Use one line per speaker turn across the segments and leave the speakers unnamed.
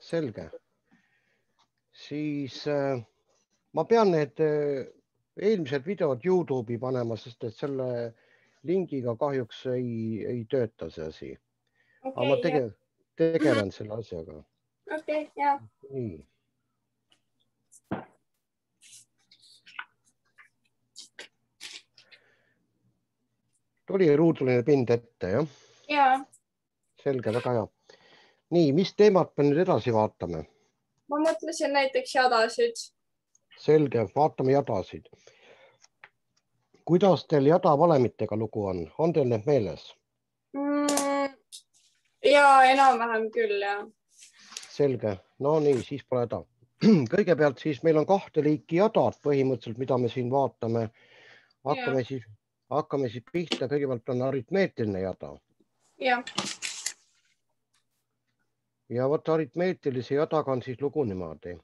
selge. Siis ma pean need eelmised videod YouTube'i panema, sest et selle lingiga kahjuks ei tööta see asi. Aga ma tegelen selle asjaga.
Okei, jah.
Nii. Tuli ruuduline pind ette, jah?
Jaa.
Selge, väga hea. Nii, mis teemat me nüüd edasi vaatame?
Ma mõtlesin näiteks jadasid.
Selge, vaatame jadasid. Kuidas teil jadavalemitega lugu on? On teil need meeles?
Jaa, enam-vähem küll, jah.
Selge, no nii, siis pole häda. Kõigepealt siis meil on 2 liiki jadad põhimõtteliselt, mida me siin vaatame. Hakkame siis pihta, kõigepealt on aritmeetiline jada.
Jah.
Ja võtta aritmeetilise jadaga on siis lugu niimoodi,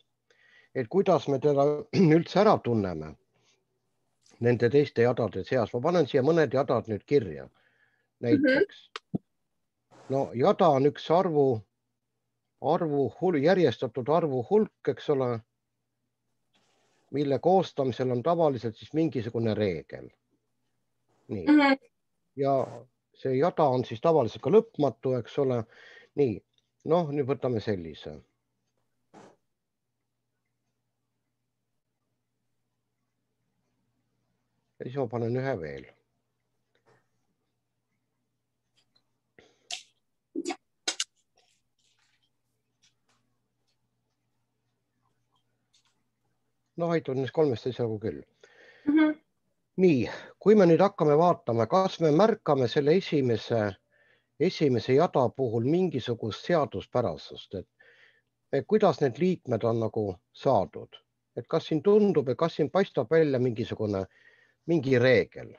et kuidas me teda üldse ära tunneme nende teiste jadade seas. Ma panen siia mõned jadad nüüd kirja. Näiteks. No jada on üks järjestatud arvu hulk, eks ole, mille koostamisel on tavaliselt siis mingisugune reegel. Nii. Ja see jada on siis tavaliselt ka lõpmatu, eks ole. Nii, noh, nüüd võtame sellise. Ja siis ma panen ühe veel. No aitab neist 3 asjagu küll. Nii, kui me nüüd hakkame vaatama, kas me märkame selle esimese jada puhul mingisugust seaduspärasust, et kuidas need liikmed on nagu saadud, et kas siin tundub, et kas siin paistab välja mingi reegel?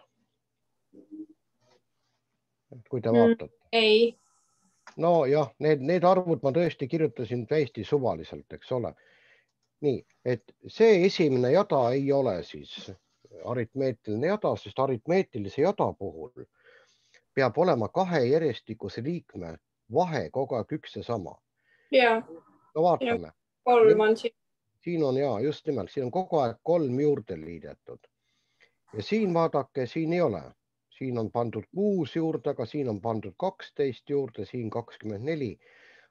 Kui te vaatate.
Ei.
No jah, need arvud ma tõesti kirjutasin täiesti suvaliselt, eks ole. Nii, et see esimene jada ei ole siis aritmeetiline jada, sest aritmeetilise jada puhul peab olema 2 järjestikuse liikme vahe kogu aeg üks ja sama.
Jaa.
No vaatame.
3 on siin.
Siin on jaa, just nimelt, siin on kogu aeg 3 juurde liidetud. Ja siin vaadake, siin ei ole. Siin on pandud 6 juurde, aga siin on pandud 12 juurde, siin 24.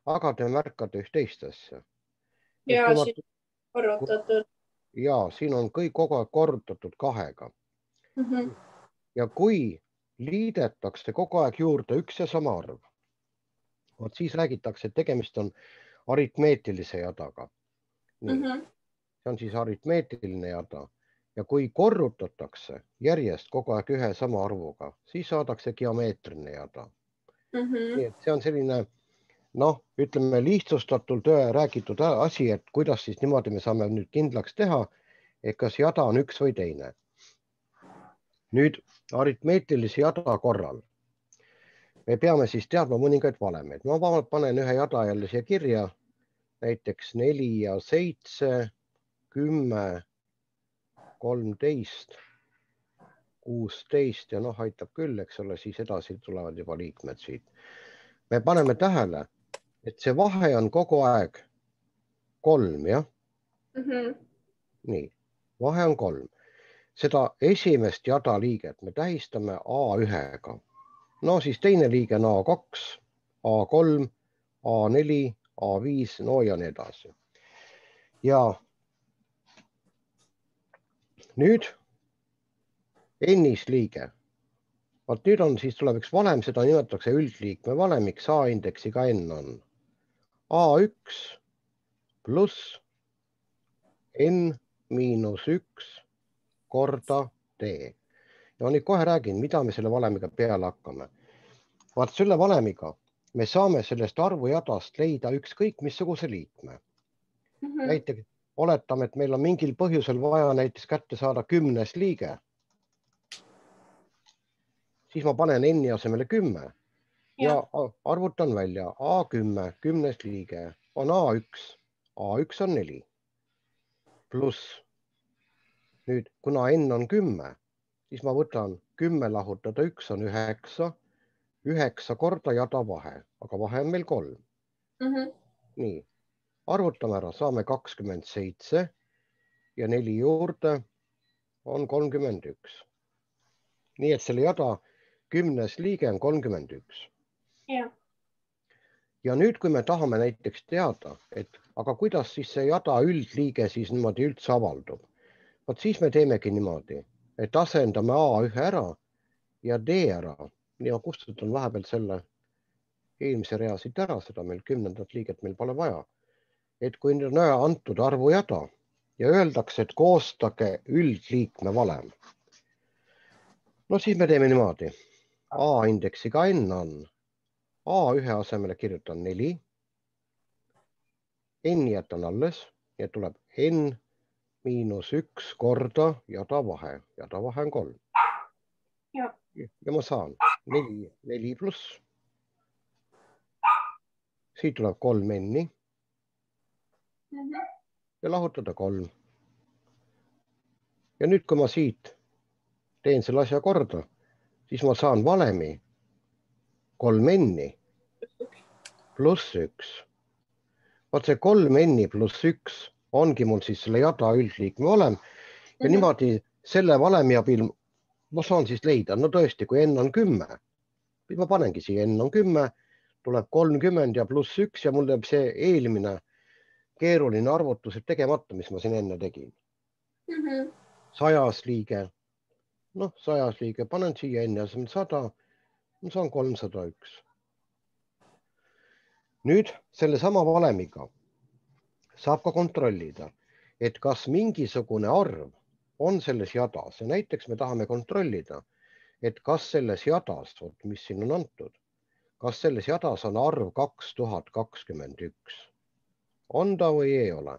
Aga te märkate üht teist asja.
Jaa, siin korrutatud.
Jaa, siin on kõik kogu aeg korrutatud 2-ga. Ja kui liidetakse kogu aeg juurde üks ja sama arv, siis räägitakse, et tegemist on aritmeetilise jadaga. See on siis aritmeetiline jada. Ja kui korrutatakse järjest kogu aeg ühe sama arvuga, siis saadakse geomeetriline jada. Nii et see on selline, noh, ütleme lihtsustatult räägitud asi, et kuidas siis niimoodi me saame nüüd kindlaks teha, et kas jada on üks või teine. Nüüd aritmeetilise jada korral me peame siis teadma mõningaid valemeid. Ma panen ühe jada jälle siia kirja, näiteks 4 ja 7, 10, 13, 16 ja noh, aitab küll, eks ole, siis edasi tulevad juba liikmed siit. Me paneme tähele, et see vahe on kogu aeg 3, jah? Nii, vahe on 3. Seda esimest jada liiget me tähistame A1-ga. No siis teine liige on A2, A3, A4, A5, no ja nii edasi. Ja nüüd N-is liige. Vaat nüüd on, siis tuleb üks valem, seda nimetatakse üldliikme valemiks, A-indeksiga N on A1 pluss N miinus 1 korda D. Ja nüüd kohe räägin, mida me selle valemiga peale hakkame. Vaat selle valemiga me saame sellest arvujadast leida ükskõik missuguse liikme. Näiteks oletame, et meil on mingil põhjusel vaja näiteks kätte saada 10. liige. Siis ma panen N asemele 10 ja arvutan välja A10, 10. liige on A1. A1 on 4. Pluss nüüd, kuna N on 10, siis ma võtan 10 lahutada 1 on 9, 9 korda jada vahe, aga vahe on meil 3. Nii, arvutame ära, saame 27 ja 4 juurde on 31. Nii et selle jada 10. liige on 31. Ja nüüd, kui me tahame näiteks teada, et aga kuidas siis see jada üldliige siis niimoodi üldse avaldub, vot siis me teemegi niimoodi, et asendame A1 ära ja D ära. Ja kustutan vahepeal selle eelmise rea siit ära, seda meil 10. liiget meil pole vaja. Et kui nüüd on antud arvujada ja öeldakse, et koostage üldliikme valem. No siis me teeme niimoodi. A indeksiga n on A1 asemele kirjutan 4. N jätan alles ja tuleb n miinus 1 korda jada vahe. Jada vahe on 3. Ja ma saan 4 pluss. Siit tuleb 3 n-i ja lahutada 3. Ja nüüd, kui ma siit teen selle asja korda, siis ma saan valemi 3 n-i pluss 1. Vaat see 3 n-i pluss 1 ongi mul siis selle jada üldliikme valem ja niimoodi selle valemi abil ma saan siis leida, no tõesti, kui n on 10, siis ma panengi siia n on 10, tuleb 30 ja pluss 1 ja mul teeb see eelmine keeruline arvutus tegemata, mis ma siin enne tegin. 100 liige, noh 100 liige, panen siia n asemel 100, ma saan 301. Nüüd selle sama valemiga saab ka kontrollida, et kas mingisugune arv on selles jadas ja näiteks me tahame kontrollida, et kas selles jadas, mis siin on antud, kas selles jadas on arv 2021. On ta või ei ole?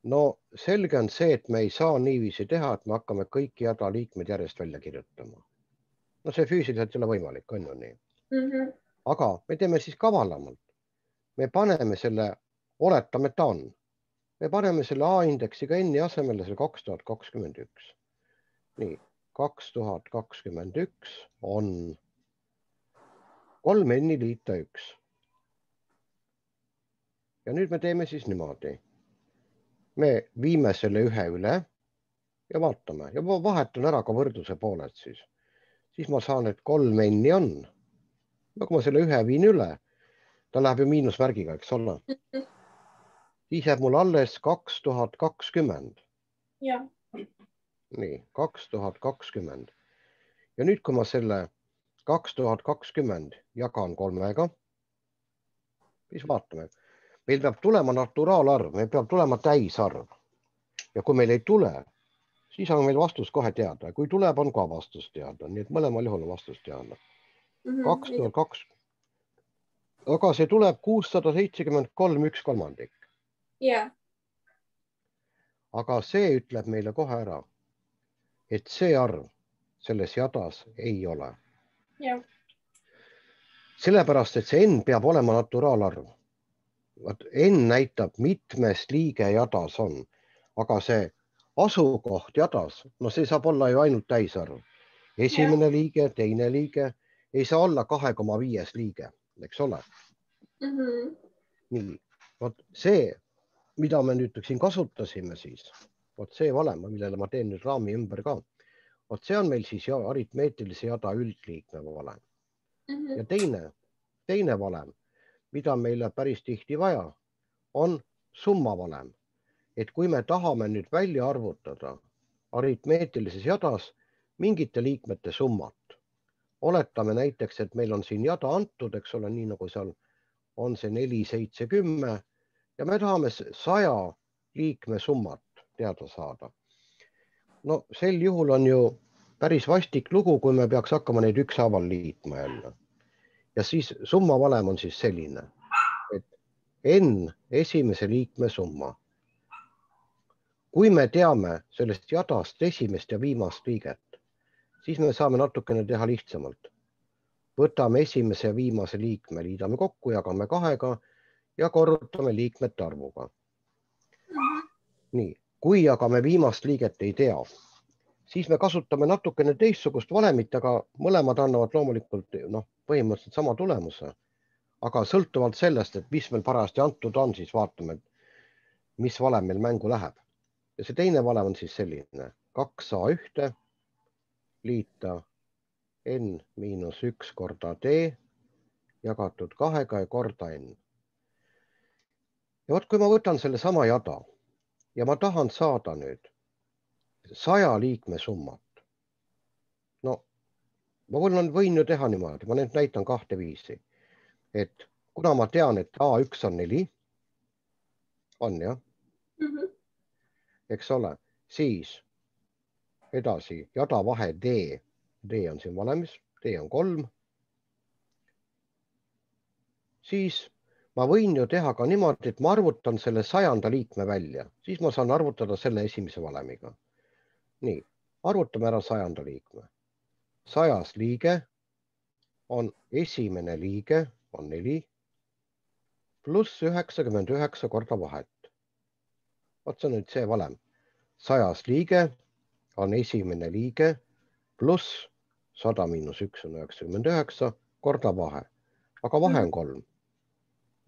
No selge on see, et me ei saa niiviisi teha, et me hakkame kõiki jada liikmed järjest välja kirjutama. No see füüsiliselt ei ole võimalik, on ju nii. Aga me teeme siis kavalamalt. Me paneme selle, oletame, et ta on. Me paneme selle A-indeksiga n-i asemele selle 2021. Nii, 2021 on 3 n-i liita 1. Ja nüüd me teeme siis niimoodi. Me viime selle ühe üle ja vaatame ja ma vahetan ära ka võrdluse pooled siis. Siis ma saan, et 3 n-i on. No kui ma selle ühe viin üle, ta läheb ju miinusmärgiga, eks ole. Siis jääb mul alles 2020. Nii, 2020. Ja nüüd, kui ma selle 2020 jagan 3-ga, siis vaatame. Meil peab tulema naturaalarv, meil peab tulema täisarv. Ja kui meil ei tule, siis on meil vastus kohe teada. Kui tuleb, on ka vastus teada. Nii et mõlemal juhul on vastus teada. 2020. Aga see tuleb 673 1/3. Aga see ütleb meile kohe ära, et see arv selles jadas ei ole. Sellepärast, et see n peab olema naturaalarv. N näitab, mitmes liige jadas on, aga see asukoht jadas, no see saab olla ju ainult täisarv. Esimene liige, teine liige ei saa olla 2,5 liige, eks ole. Nii, vot see, mida me nüüd siin kasutasime siis, vot see valem, millele ma teen nüüd raami ümber ka, vot see on meil siis aritmeetilise jada üldliikme valem. Ja teine valem, mida meile päris tihti vaja, on summa valem. Et kui me tahame nüüd välja arvutada aritmeetilises jadas mingite liikmete summat, oletame näiteks, et meil on siin jada antud, eks ole, nii nagu seal on see 4, 7, 10 ja me tahame 100 liikme summat teada saada. No sel juhul on ju päris vastik lugu, kui me peaks hakkama neid ükshaaval liitma jälle. Ja siis summa valem on siis selline, et n esimese liikme summa. Kui me teame sellest jadast esimest ja viimast liiget, siis me saame natukene teha lihtsamalt. Võtame esimese ja viimase liikme, liidame kokku, jagame 2-ga ja korrutame liikmete arvuga. Nii, kui aga me viimast liiget ei tea, siis me kasutame natukene teistsugust valemit, aga mõlemad annavad loomulikult põhimõtteliselt sama tulemuse. aga sõltuvalt sellest, et mis meil parajasti antud on, siis vaatame, mis valem meil mängu läheb. Ja see teine valem on siis selline 2A1 liita n-1 korda d jagatud 2 ja korda n. Ja vot, kui ma võtan selle sama jada ja ma tahan saada nüüd 100 liikme summat. No, ma võin ju teha niimoodi, ma nüüd näitan 2 viisi. Et kuna ma tean, et A1 on 4, on jah, eks ole, siis edasi jada vahe D, D on siin valemis, D on 3. Siis ma võin ju teha ka niimoodi, et ma arvutan selle 100. liikme välja, siis ma saan arvutada selle esimese valemiga. Nii, arvutame ära 100. liikme. 100. liige on esimene liige, on 4, pluss 99 korda vahet. Vot see on nüüd see valem. 100. liige on esimene liige, pluss 100 miinus 1 on 99 korda vahe. Aga vahe on 3.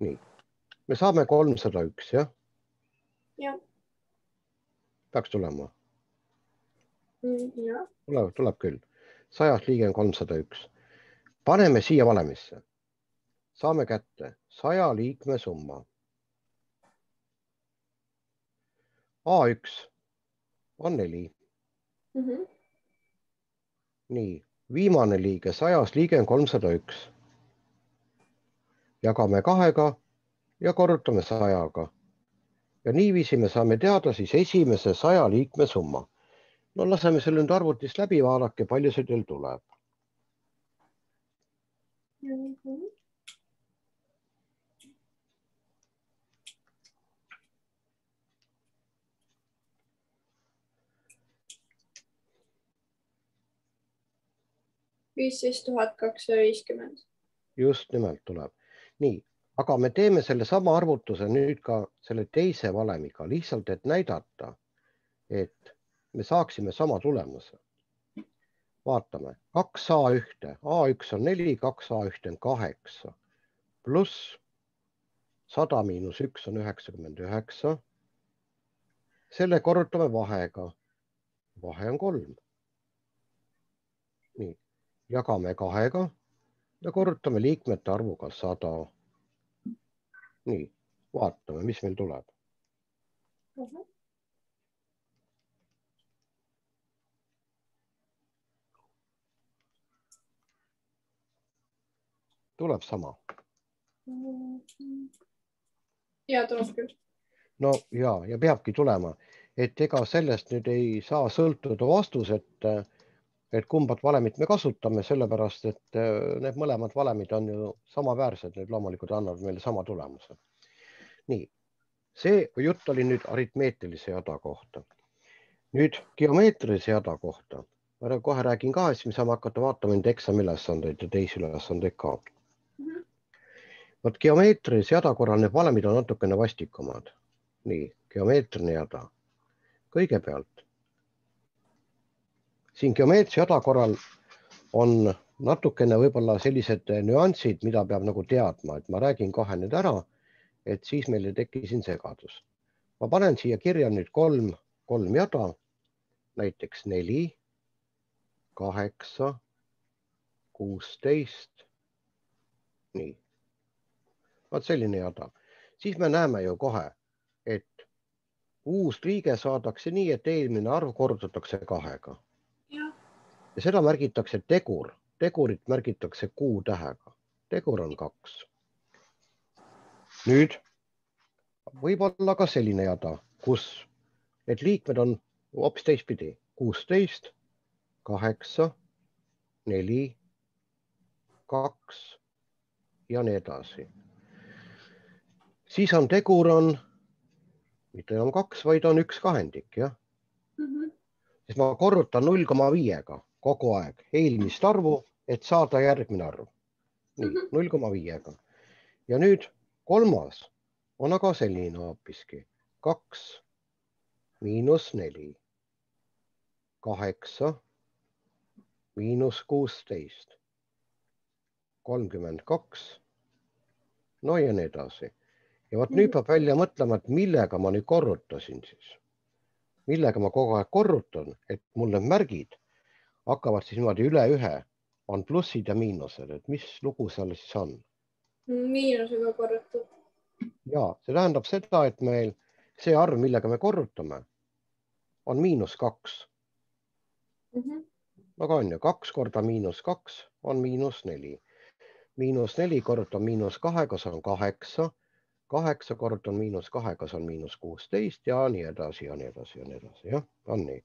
Nii, me saame 301, jah?
Jah.
Peaks tulema.
Jah.
Tuleb küll. 100. liige on 301. Paneme siia valemisse. Saame kätte 100 liikme summa. A1 on 4. Nii, viimane liige, 100. liige on 301. Jagame 2 ja korrutame 100-ga. Ja niiviisi me saame teada siis esimese 100 liikme summa. No laseme selle nüüd arvutist läbi, vaadake, palju see teil tuleb.
$15,250.
Just nimelt tuleb. Nii, aga me teeme selle sama arvutuse nüüd ka selle teise valemiga, lihtsalt et näidata, et me saaksime sama tulemuse. Vaatame, 2A1, A1 on 4, 2A1 on 8, pluss 100 miinus 1 on 99. Selle korrutame vahega. Vahe on 3. Nii, jagame 2 ja korrutame liikmete arvuga 100. Nii, vaatame, mis meil tuleb. Tuleb sama.
Ja, tuleb küll.
No ja peabki tulema, et ega sellest nüüd ei saa sõltuda vastus, et kumbat valemit me kasutame, sellepärast, et need mõlemad valemid on ju samaväärsed, need loomulikult annavad meile sama tulemuse. Nii, see jutt oli nüüd aritmeetilise jada kohta. Nüüd geomeetrilise jada kohta. Ma kohe räägin ka, et me saame hakata vaatama nüüd eksamiülesandeid ja teisi ülesandeid ka. Vot geomeetrilise jada korral need valemid on natukene vastikumad. Nii, geomeetriline jada. Kõigepealt, siin geomeetrilise jada korral on natukene võib-olla sellised nüansid, mida peab nagu teadma, et ma räägin kohe nüüd ära, et siis meil ei teki siin segadus. Ma panen siia kirja nüüd kolm jada, näiteks 4, 8, 16, nii. Vaat selline jada. Siis me näeme ju kohe, et uus liige saadakse nii, et eelmine arv korrutatakse 2-ga. Ja seda märgitakse tegur. Tegurit märgitakse Q-tähega. Tegur on 2. Nüüd võib olla ka selline jada, kus need liikmed on hoopis teistpidi. 16, 8, 4, 2 ja nii edasi. Siis on tegur on, mitte enam 2, vaid on 1 kahendik, jah? Siis ma korrutan 0,5-ga kogu aeg eelmist arvu, et saada järgmine arv. Nii, 0,5-ga. Ja nüüd kolmas on aga selline hoopiski. 2 miinus 4, 8 miinus 16, 32 no ja nii edasi. Ja vot nüüd peab välja mõtlema, et millega ma nüüd korrutasin siis. Millega ma kogu aeg korrutan, et mul need märgid hakkavad siis niimoodi üle ühe, on plussid ja miinused, et mis lugu seal siis on?
Miinusega korrutud.
Ja see tähendab seda, et meil see arv, millega me korrutame, on -2. Aga on ju 2 korda -2 on -4. -4 korruta -2, see on 8. 8 korda on -2, see on -16 ja nii edasi ja nii edasi ja nii edasi. Jah, on nii.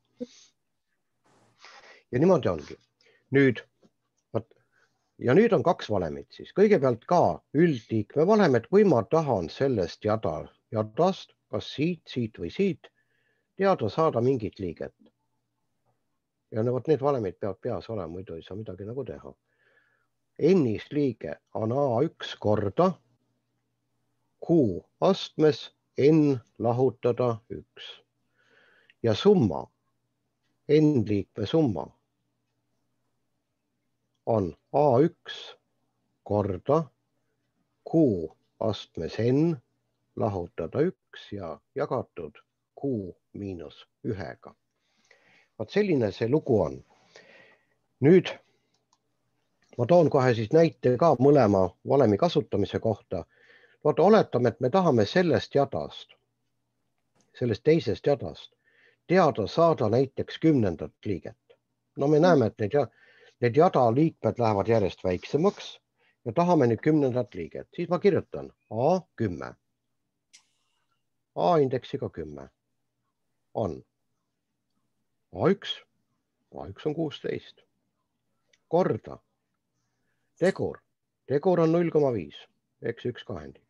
Ja niimoodi ongi. Ja nüüd on 2 valemit siis. Kõigepealt ka üldliikme valemed, kui ma tahan sellest jadast, kas siit või siit, teada saada mingit liiget. Ja vot need valemid peavad peas olema, muidu ei saa midagi nagu teha. N-is liige on A1 korda Q astmes N lahutada 1. Ja summa, N-liikme summa on A1 korda Q astmes N lahutada 1 ja jagatud Q miinus 1-ga. Vaat selline see lugu on. Nüüd ma toon kohe siis näite ka mõlema valemi kasutamise kohta. Vaata, oletame, et me tahame sellest jadast, sellest teisest jadast teada saada näiteks 10. liiget. No me näeme, et need jada liikmed lähevad järjest väiksemaks ja tahame nüüd 10. liiget. Siis ma kirjutan A10. A-indeksiga 10 on A1. A1 on 16. Korda. Tegur. Tegur on 0,5. Eks 1 kahendik.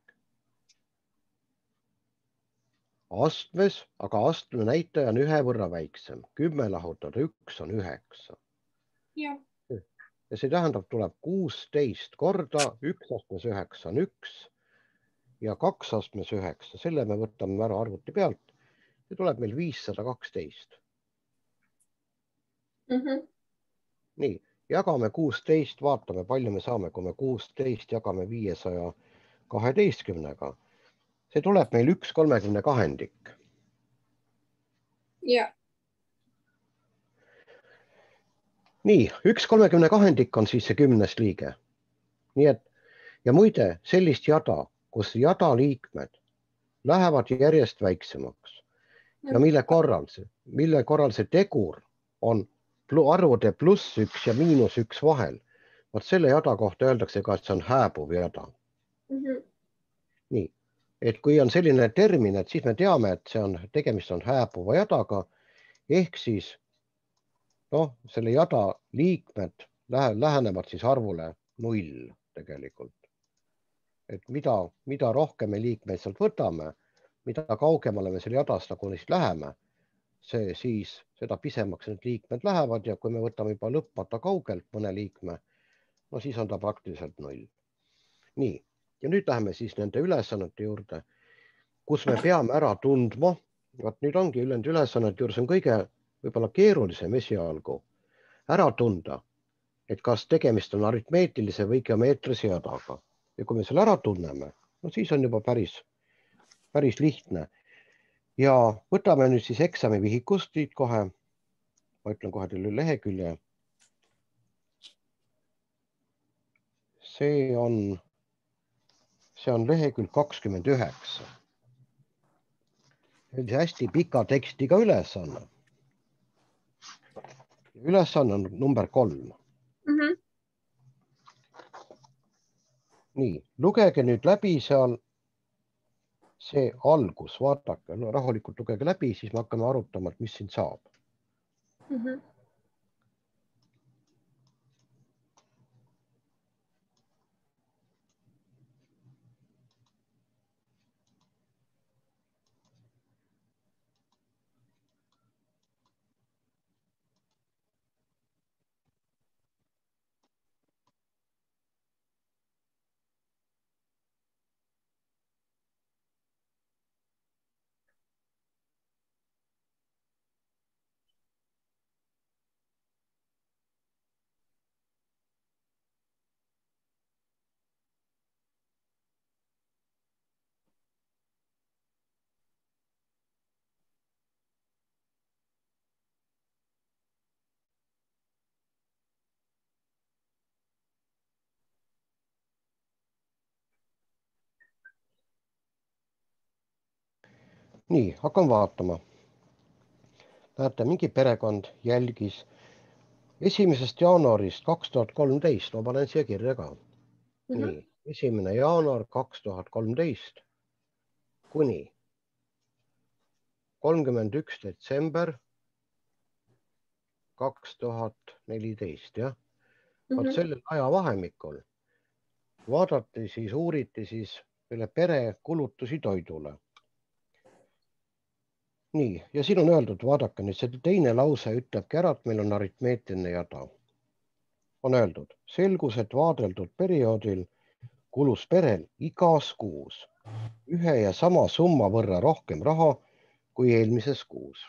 Astmes, aga astme näitaja on 1 võrra väiksem. 10 lahutada 1 on 9.
Ja
see tähendab, tuleb 16 korda 1 astmes 9 on 1 ja 2 astmes 9. Selle me võtame ära arvuti pealt. See tuleb meil 512. Nii, jagame 16, vaatame, palju me saame, kui me 16 jagame 512-ga. See tuleb meil 1/30 kahendik.
Ja.
Nii, 1/30 kahendik on siis see 10. liige. Nii et, ja muide, sellist jada, kus jada liikmed lähevad järjest väiksemaks ja mille korral see tegur on arvude +1 ja -1 vahel. Vaat selle jada kohta öeldakse ka, et see on hääbuv jada. Nii, et kui on selline termin, et siis me teame, et tegemist on hääbuva jadaga, ehk siis selle jada liikmed lähenevad siis arvule 0 tegelikult. Et mida rohkem me liikmeid sealt võtame, mida kaugemale me selle jadast nagu neist läheme, siis seda pisemaks need liikmed lähevad ja kui me võtame juba lõpmata kaugelt mõne liikme, no siis on ta praktiliselt 0. Nii, ja nüüd läheme siis nende ülesannete juurde, kus me peame ära tundma, vaat nüüd ongi ülesannete juures on kõige võib-olla keerulisem esialgu ära tunda, et kas tegemist on aritmeetilise või geomeetrilise jadaga. Ja kui me selle ära tunneme, no siis on juba päris lihtne. Ja võtame nüüd siis eksami vihikust siit kohe. Ma ütlen kohe teile lehekülje. See on lehekülg 29. See on hästi pika tekstiga ülesanne. Ülesanne on number 3. Nii, lugege nüüd läbi seal see algus, vaadake, rahulikult lugege läbi, siis me hakkame arutama, et mis siin saab. Nii, hakkan vaatama. Näete, mingi perekond jälgis 1. jaanuarist 2013, ma panen siia kirja ka. Nii, 1. jaanuar 2013 kuni 31. detsember 2014, jah. Vaat sellel ajavahemikul vaadati siis, uuriti siis selle pere kulutusi toidule. Nii, ja siin on öeldud, vaadake nüüd, see teine lause ütlebki ära, et meil on aritmeetiline jada. On öeldud, selgus, et vaadeldud perioodil kulus perel igas kuus ühe ja sama summa võrra rohkem raha kui eelmises kuus.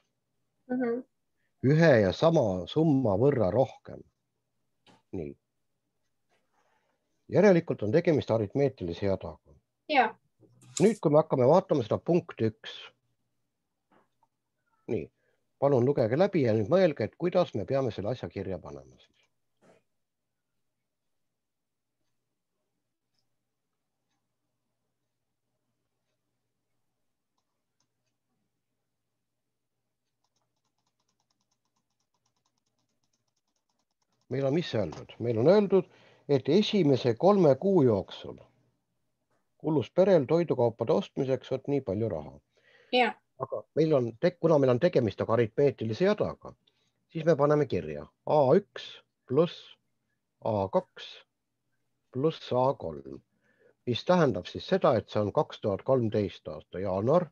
Ühe ja sama summa võrra rohkem. Nii. Järelikult on tegemist aritmeetilise jadaga.
Ja.
Nüüd, kui me hakkame vaatama seda punkti 1. Nii, palun lugege läbi ja nüüd mõelge, et kuidas me peame selle asja kirja panema siis. Meil on mis öeldud? Meil on öeldud, et esimese 3 kuu jooksul kulus perel toidukaupade ostmiseks nii palju raha.
Ja.
Aga kuna meil on tegemist aritmeetilise jadaga, siis me paneme kirja A1 pluss A2 pluss A3, mis tähendab siis seda, et see on 2013 aasta jaanuar,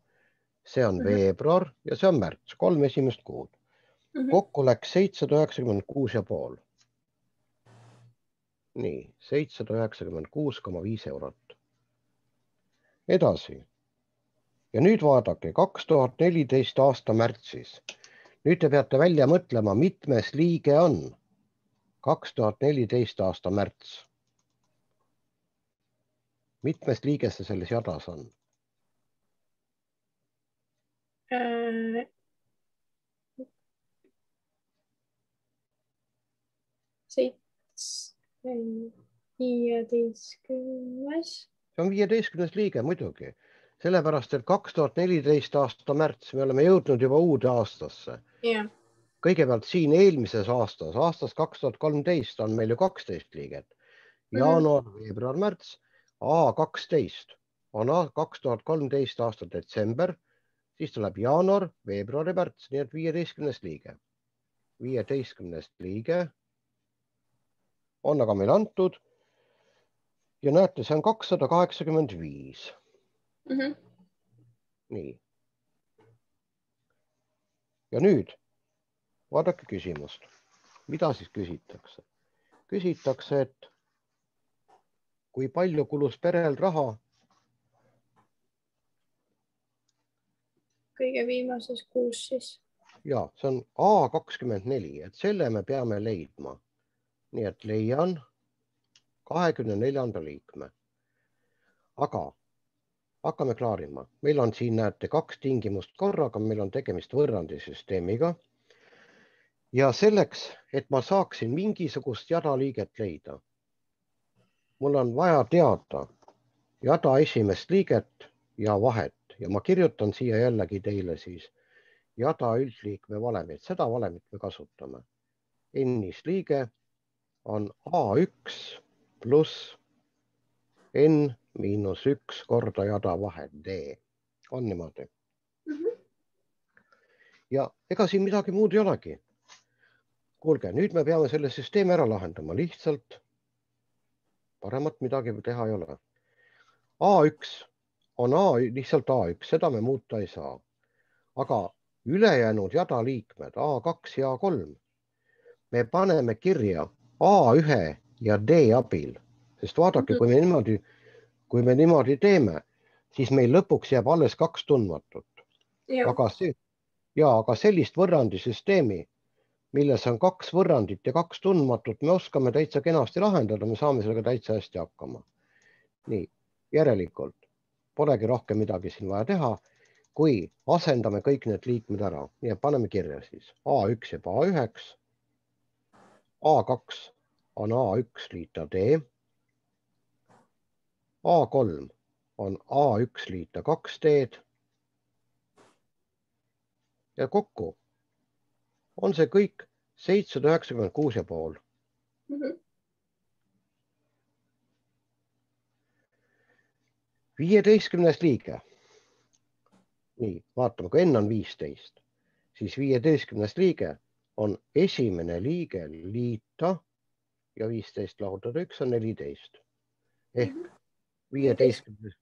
see on veebruar ja see on märts, 3 esimest kuud. Kokku läks 796,5. Nii, 796,5 eurot. Edasi. Ja nüüd vaadake, 2014 aasta märtsis. Nüüd te peate välja mõtlema, mitmes liige on 2014 aasta märts. Mitmes liige see selles jadas on? See on 15. liige muidugi. Sellepärast, et 2014 aasta märts, me oleme jõudnud juba uude aastasse.
Ja.
Kõigepealt siin eelmises aastas 2013 on meil ju 12 liiget. Jaanuar, veebruar, märts, A12 on 2013 aasta detsember, siis tuleb jaanuar, veebruar ja märts, nii et 15. liige. 15. liige on aga meil antud ja näete, see on 285. Nii. Ja nüüd vaadake küsimust. Mida siis küsitakse? Küsitakse, et kui palju kulus perel raha?
Kõige viimases kuus siis.
Ja, see on A24, et selle me peame leidma. Nii et leian 24. liikme. Aga hakkame klaarima. Meil on siin, näete, 2 tingimust korraga, meil on tegemist võrrandisüsteemiga. Ja selleks, et ma saaksin mingisugust jadaliiget leida, mul on vaja teada jada esimest liiget ja vahet. Ja ma kirjutan siia jällegi teile siis jada üldliikme valemit. Seda valemit me kasutame. N-is liige on A1 pluss N miinus 1 korda jada vahet D. On niimoodi. Ja ega siin midagi muud ei olegi. Kuulge, nüüd me peame selle süsteemi ära lahendama. Lihtsalt paremat midagi teha ei ole. A1 on lihtsalt A1, seda me muuta ei saa. Aga ülejäänud jadaliikmed A2 ja A3 me paneme kirja A1 ja D abil. Sest vaadake, kui me niimoodi teeme, siis meil lõpuks jääb alles 2 tundmatut. Aga sellist võrrandisüsteemi, milles on 2 võrrandit ja 2 tundmatut, me oskame täitsa kenasti lahendada, me saame sellega täitsa hästi hakkama. Nii, järelikult polegi rohkem midagi siin vaja teha, kui asendame kõik need liikmed ära. Nii et paneme kirja siis A1 jääb A1, A2 on A1 liita D, A3 on A1 liita 2D ja kokku on see kõik 796,5. 15. liige. Nii, vaatame, kui n on 15, siis 15. liige on esimene liige liita ja 15 lahutada 1 on 14. Ehk 15.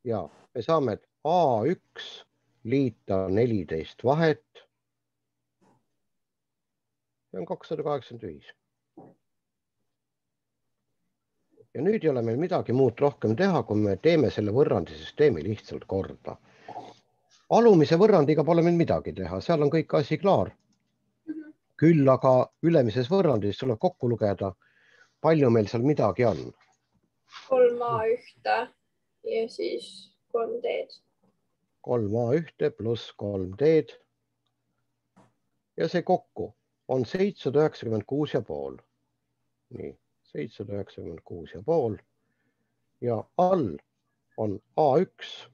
Ja me saame, et A1 liita 14 vahet. See on 285. Ja nüüd ei ole meil midagi muud rohkem teha, kui me teeme selle võrrandisüsteemi lihtsalt korda. Alumise võrrandiga pole meil midagi teha, seal on kõik asi klaar. Küll aga ülemises võrrandis tuleb kokku lugeda, palju meil seal midagi on.
3A1 ja siis 3D-d.
3A1 pluss 3D-d. Ja see kokku on 796,5. Nii, 796,5. Ja all on A1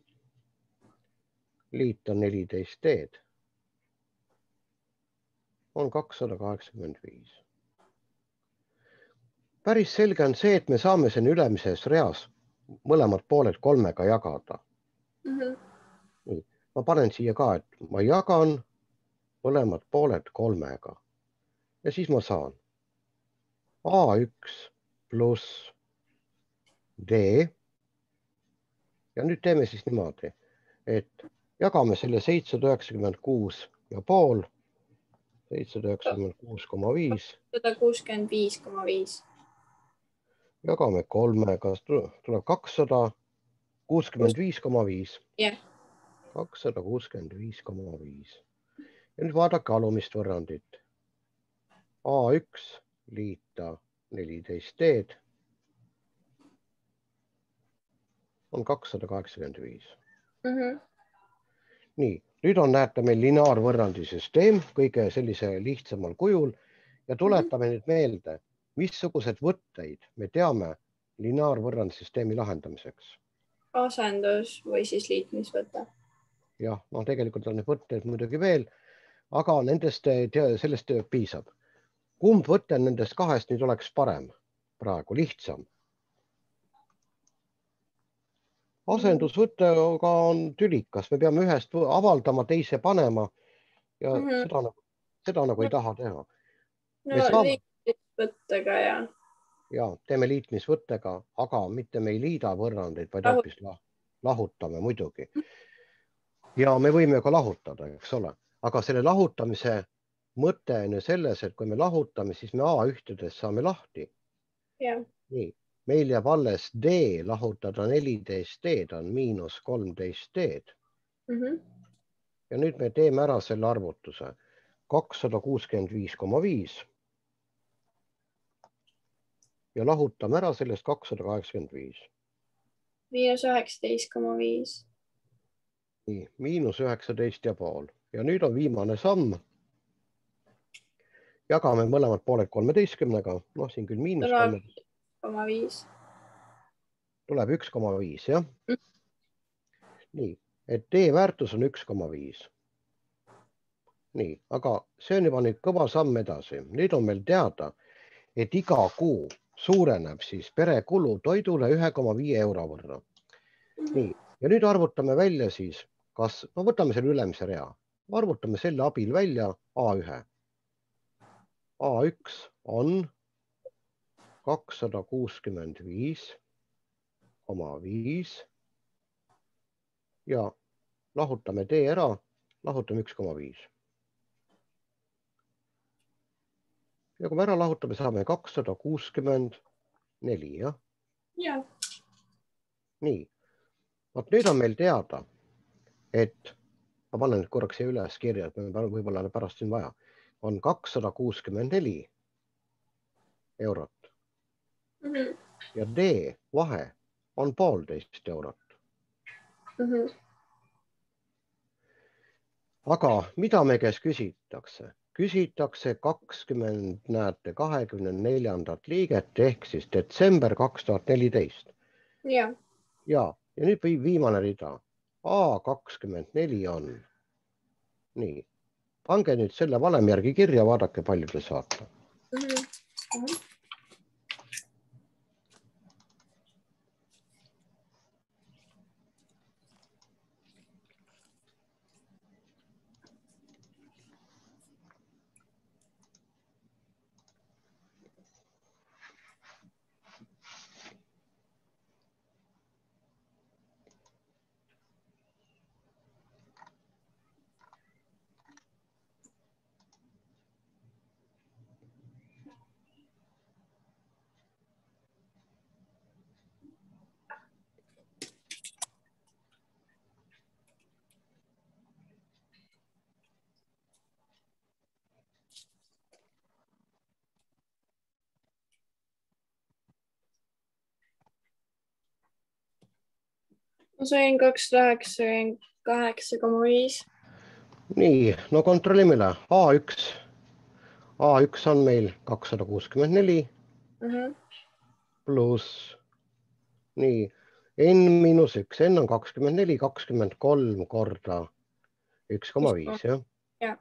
liita 14D on 285. Päris selge on see, et me saame sen ülemises reas mõlemad pooled 3-ga jagada. Nii, ma panen siia ka, et ma jagan mõlemad pooled 3-ga. Ja siis ma saan A1 pluss D. Ja nüüd teeme siis niimoodi, et jagame selle 796,5. 796,5.
165,5.
Jagame 3-ga, tuleb 265,5.
Jah.
265,5. Ja nüüd vaadake alumist võrrandit. A1 liita 14D on 285. Nii, nüüd on näete meil lineaarvõrrandisüsteem kõige sellise lihtsamal kujul ja tuletame nüüd meelde, missugused võtteid me teame lineaarvõrrandisüsteemi lahendamiseks.
Asendus või siis liitmisvõte.
Jah, no tegelikult on neid võtteid muidugi veel, aga sellest piisab. Kumb võte nendest kahest nüüd oleks parem praegu, lihtsam? Asendusvõttega on tülikas, me peame ühest avaldama, teise panema ja seda nagu ei taha teha.
No liitmisvõttega ja.
Ja, teeme liitmisvõttega, aga mitte me ei liida võrrandeid, vaid hoopis lahutame muidugi. Ja me võime ka lahutada, eks ole. Aga selle lahutamise mõte on ju selles, et kui me lahutame, siis me A1-des saame lahti. Nii, meil jääb alles D lahutada 14D on miinus 13D. Ja nüüd me teeme ära selle arvutuse. 265,5. Ja lahutame ära sellest 285.
Miinus 19,5.
Nii, miinus 19,5. Ja nüüd on viimane samm. Jagame mõlemad pooled 13-ga. No siin küll miinus
13,5.
Tuleb 1,5, jah? Nii, et D väärtus on 1,5. Nii, aga see on juba nüüd kõva samm edasi. Nüüd on meil teada, et iga kuu suureneb siis perekulu toidule 1,5 euro võrra. Nii, ja nüüd arvutame välja siis, kas, no võtame selle ülemise rea. Arvutame selle abil välja A1. A1 on 265,5 ja lahutame D ära, lahutame 1,5. Ja kui me ära lahutame, saame 264, jah?
Jah.
Nii, nüüd on meil teada, et ma panen nüüd korraks siia üles kirja, et me võib-olla pärast siin vaja, on 264 eurot. Ja D vahe on 1,5 eurot. Aga mida me käes küsitakse? Küsitakse 24. liiget ehk siis detsember 2014.
Ja.
Ja nüüd viimane rida. A24 on. Nii, Pange nüüd selle valemi järgi kirja, vaadake palju te saate.
Ma sain 298,5.
Nii, no kontrollime üle. A1 on meil 264 pluss, nii, N-1, N on 24, 23 korda 1,5, jah?
Jah.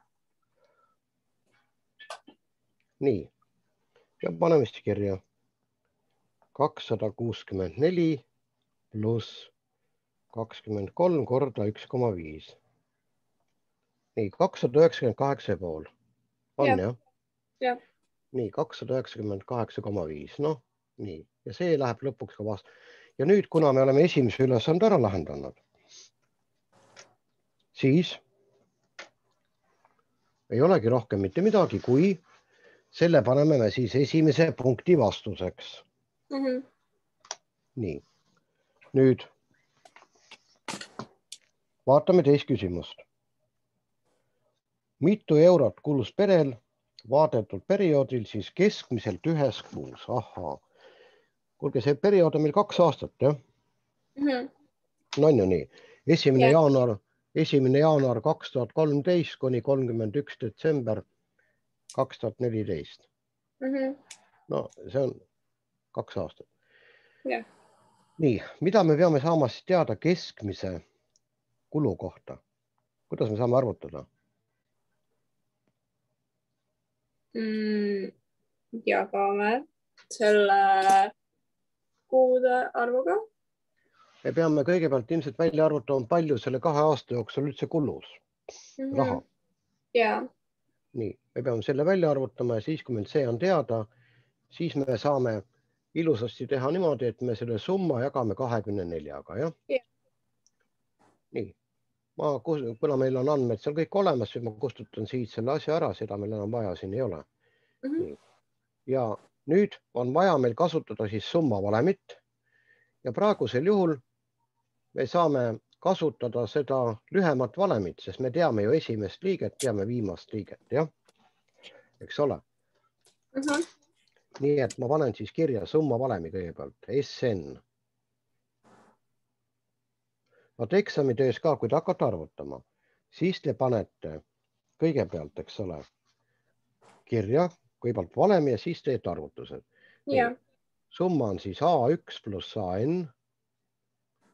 Nii, ja paneme siis kirja 264 pluss 23 korda 1,5. Nii, 298,5 on, jah?
Jah.
Nii, 298,5, noh, nii. Ja see läheb lõpuks ka vastu. Ja nüüd, kuna me oleme esimese ülesande ära lahendanud, siis ei olegi rohkem mitte midagi, kui selle paneme me siis esimese punkti vastuseks. Nii, nüüd vaatame teist küsimust. Mitu eurot kulus perel vaadetud perioodil siis keskmiselt ühes kuus? Ahaa. Kuulge, see periood on meil 2 aastat, jah? No on ju nii. 1. jaanuar 2013 kuni 31. detsember 2014. No see on 2 aastat.
Jah.
Nii, mida me peame saama siis teada keskmise kulu kohta? Kuidas me saame arvutada?
Jagame selle kuude arvuga.
Me peame kõigepealt ilmselt välja arvutama, palju selle 2 aasta jooksul üldse kulus raha.
Jaa.
Nii, me peame selle välja arvutama ja siis, kui meil see on teada, siis me saame ilusasti teha niimoodi, et me selle summa jagame 24-ga, jah?
Jah.
Nii, kuna meil on andmed seal kõik olemas, siis ma kustutan siit selle asja ära, seda meil enam vaja siin ei ole. Nii. Ja nüüd on vaja meil kasutada siis summavalemit ja praegusel juhul me saame kasutada seda lühemat valemit, sest me teame ju esimest liiget, teame viimast liiget, jah? Eks ole? Nii et ma panen siis kirja summavalemi kõigepealt, SN. Vaat eksamitöös ka, kui te hakkate arvutama, siis te panete kõigepealt, eks ole, kirja, kõigepealt valemi ja siis teete arvutused. Summa on siis A1 pluss AN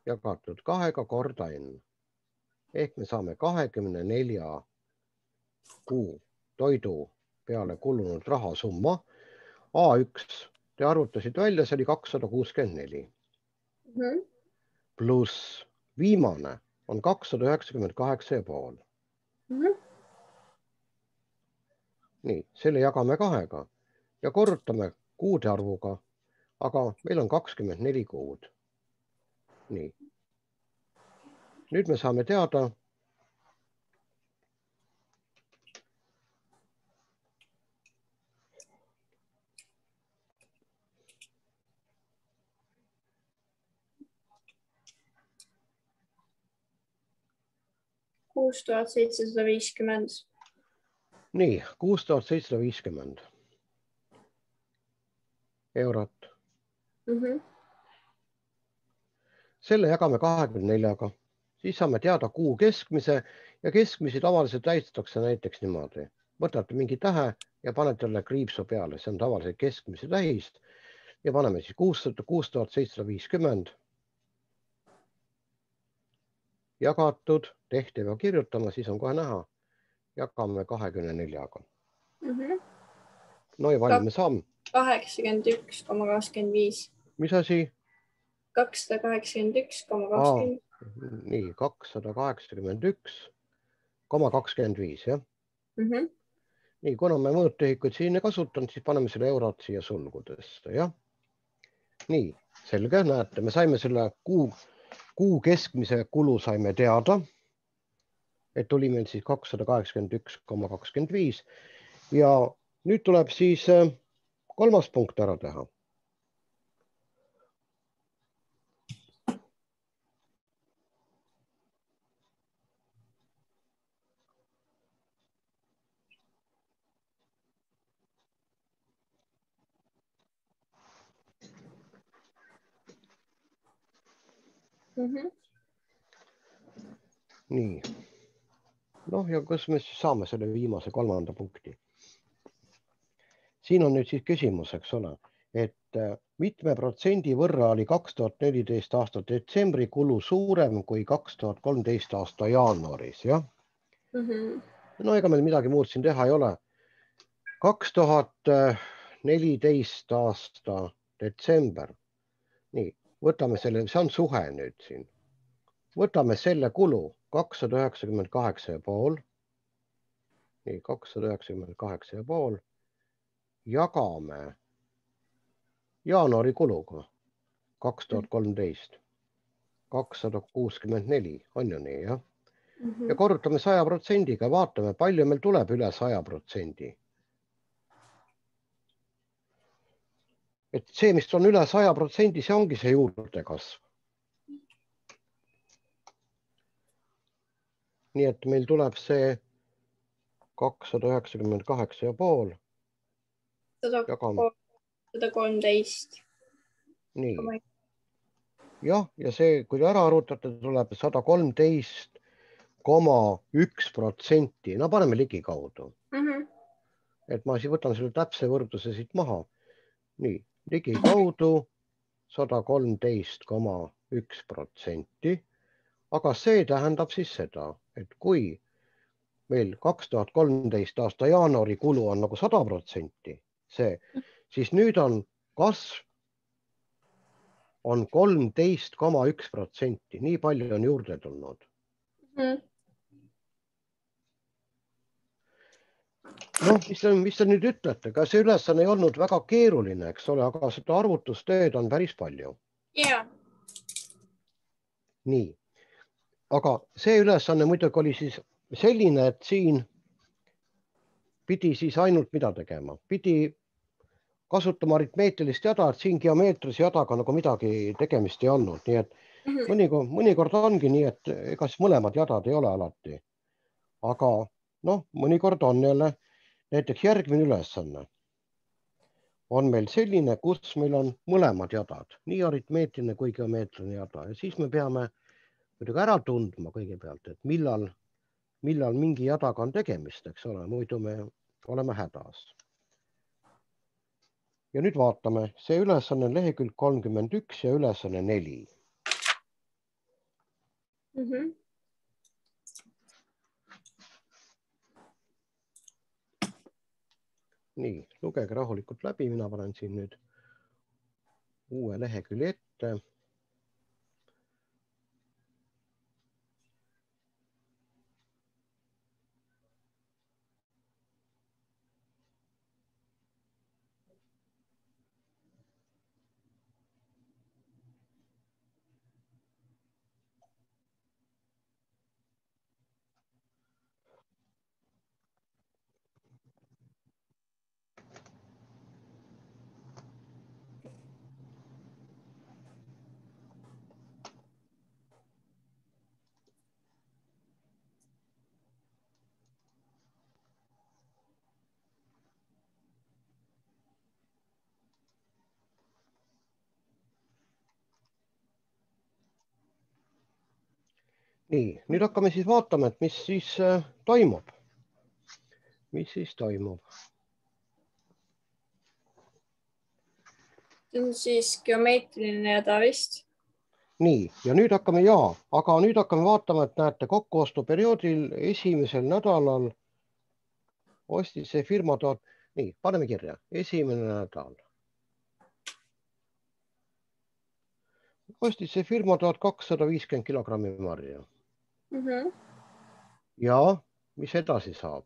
jagatud 2 korda N. Ehk me saame 24 kuu toidu peale kulunud rahasumma. A1 te arvutasid välja, see oli 264. Pluss viimane on 298,5. Nii, selle jagame 2-ga ja korrutame kuude arvuga, aga meil on 24 kuud. Nii. Nüüd me saame teada,
€6750.
Nii, 6750 eurot. Selle jagame 24-ga, siis saame teada kuu keskmise ja keskmisi tavaliselt tähistatakse näiteks niimoodi. Võtate mingi tähe ja panete talle kriipsu peale, see on tavaliselt keskmise tähist ja paneme siis 6750 jagatud, tehti peab kirjutama, siis on kohe näha, jagame 24-ga.
No
ja palju me saame?
81,25.
Mis asi?
281,20.
Nii, 281,25, jah? Nii, kuna me mõõtühikuid siin ei kasutanud, siis paneme selle eurot siia sulgudesse, jah? Nii, selge, näete, me saime selle kuu keskmise kulu saime teada, et oli meil siis 281,25 ja nüüd tuleb siis kolmas punkt ära teha. Nii. Noh, ja kus me siis saame selle viimase kolmanda punkti? Siin on nüüd siis küsimus, eks ole, et mitme protsendi võrra oli 2014 aasta detsembri kulu suurem kui 2013 aasta jaanuaris, jah? No ega meil midagi muud siin teha ei ole. 2014 aasta detsember. Nii, võtame selle, see on suhe nüüd siin. Võtame selle kulu 298,5. Nii, 298,5. Jagame jaanuari kuluga 2013. 264, on ju nii, jah? Ja korrutame 100%-ga, vaatame, palju meil tuleb üle 100%. Et see, mis on üle 100%, see ongi see juurdekasv. Nii et meil tuleb see 298,5.
113.
Nii. Jah, ja see, kui ära arvutate, tuleb 113,1%. No paneme ligikaudu. Et ma siis võtan selle täpse võrdluse siit maha. Nii, ligikaudu 113,1%. Aga see tähendab siis seda, et kui meil 2013 aasta jaanuari kulu on nagu 100%, siis nüüd on kasv on 13,1%. Nii palju on juurde tulnud. Noh, mis te nüüd ütlete? Ka see ülesanne ei olnud väga keeruline, eks ole, aga seda arvutustööd on päris palju.
Yeah.
Nii. Aga see ülesanne muidugi oli siis selline, et siin pidi siis ainult mida tegema. Pidi kasutama aritmeetilist jada, et siin geomeetrilise jadaga nagu midagi tegemist ei olnud. Nii et mõnikord ongi nii, et ega siis mõlemad jadad ei ole alati. Aga noh, mõnikord on jälle näiteks järgmine ülesanne. On meil selline, kus meil on mõlemad jadad, nii aritmeetiline kui geomeetriline jada. Ja siis me peame muidugi ära tundma kõigepealt, et millal mingi jadaga on tegemist, eks ole, muidu me oleme hädas. Ja nüüd vaatame, see ülesanne on lehekülg 31 ja ülesanne 4. Nii, lugege rahulikult läbi, mina panen siin nüüd uue lehekülje ette. Nii, nüüd hakkame siis vaatama, et mis siis toimub. Mis siis toimub?
See on siis geomeetriline jada vist.
Nii, ja nüüd hakkame vaatama, et näete kokkuostuperioodil esimesel nädalal ostis see firma nii, paneme kirja, esimene nädal. Ostis see firma 1250 kilogrammi marja. Ja mis edasi saab?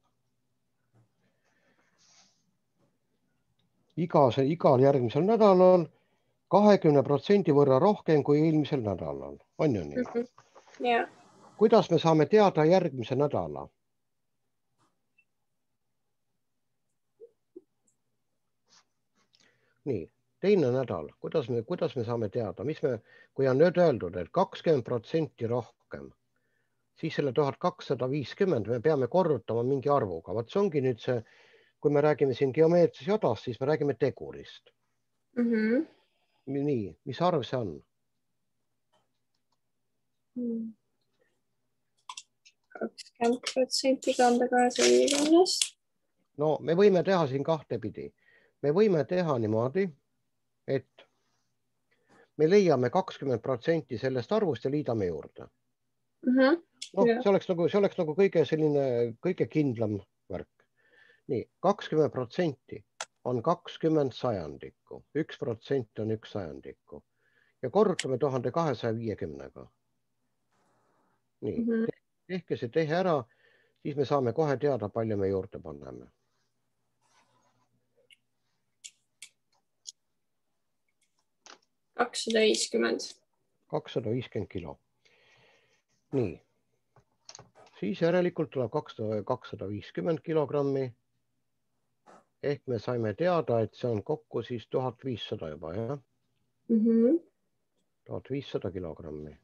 Igal järgmisel nädalal 20% võrra rohkem kui eelmisel nädalal. On ju nii?
Ja.
Kuidas me saame teada järgmise nädala? Nii, teine nädal. Kuidas me saame teada? Kui on nüüd öeldud, et 20% rohkem, siis selle 1250 me peame korrutama mingi arvuga. Vaat see ongi nüüd see, kui me räägime siin geomeetris jadast, siis me räägime tegurist. Nii, mis arv see on?
20% kanda 250.
No me võime teha siin kahte pidi. Me võime teha niimoodi, et me leiame 20% sellest arvust ja liidame juurde. No, see oleks nagu kõige kindlam värk. Nii, 20% on 20 sajandikku, 1% on 1 sajandikku ja korrutame 1250-ga. Nii, tehke see tehe ära, siis me saame kohe teada, palju me juurde paneme.
$250.
250 kilo. Nii, siis järelikult tuleb 250 kilogrammi. Ehk me saime teada, et see on kokku siis 1500 juba, jah? 1500 kilogrammi.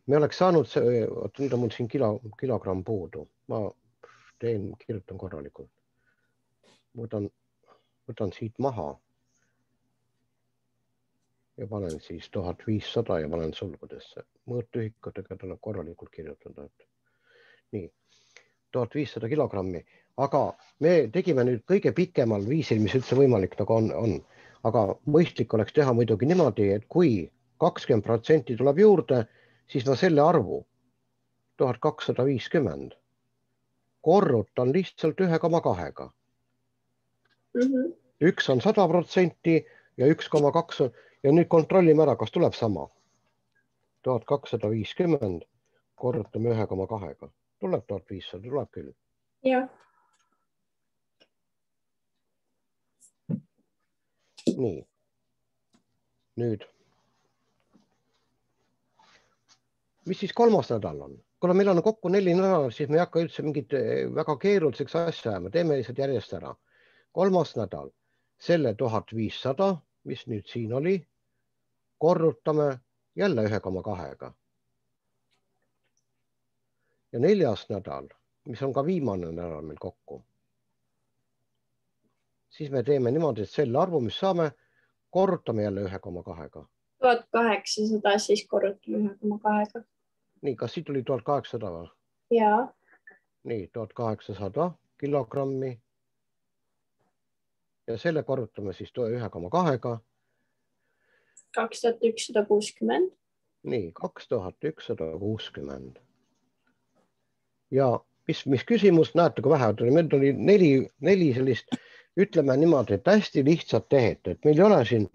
Me oleks saanud see, nüüd on mul siin kilogramm puudu. Ma kirjutan korralikult. Võtan siit maha. Ja panen siis 1500 ja panen sulgudesse. Mõõtühikutega tuleb korralikult kirjutada. Nii, 1500 kilogrammi. Aga me tegime nüüd kõige pikemal viisil, mis üldse võimalik nagu on. Aga mõistlik oleks teha muidugi niimoodi, et kui 20% tuleb juurde, siis ma selle arvu 1250 korrutan lihtsalt 1,2-ga. Üks on 100% ja 1,2 ja nüüd kontrollime ära, kas tuleb sama. 1250 korrutame 1,2-ga. Tuleb 1500, tuleb küll.
Jah.
Nii. Nüüd. Mis siis kolmas nädal on? Kuna meil on kokku 4 nädalat, siis me ei hakka üldse mingit väga keeruliseks asja ajama. Teeme lihtsalt järjest ära. Kolmas nädal. Selle 1500, mis nüüd siin oli, korrutame jälle 1,2-ga. Ja 4. nädal, mis on ka viimane nädal meil kokku. Siis me teeme niimoodi, et selle arvu, mis saame, korrutame jälle 1,2-ga.
1800 siis korrutame 1,2-ga.
Nii, kas siit tuli 1800 või?
Jaa.
Nii, 1800 kilogrammi. Ja selle korrutame siis 1,2-ga.
2160.
Nii, 2160. Ja mis küsimus, näete, kui vähe, meil oli 4 sellist, ütleme niimoodi, et hästi lihtsalt tehet, et meil ei ole siin,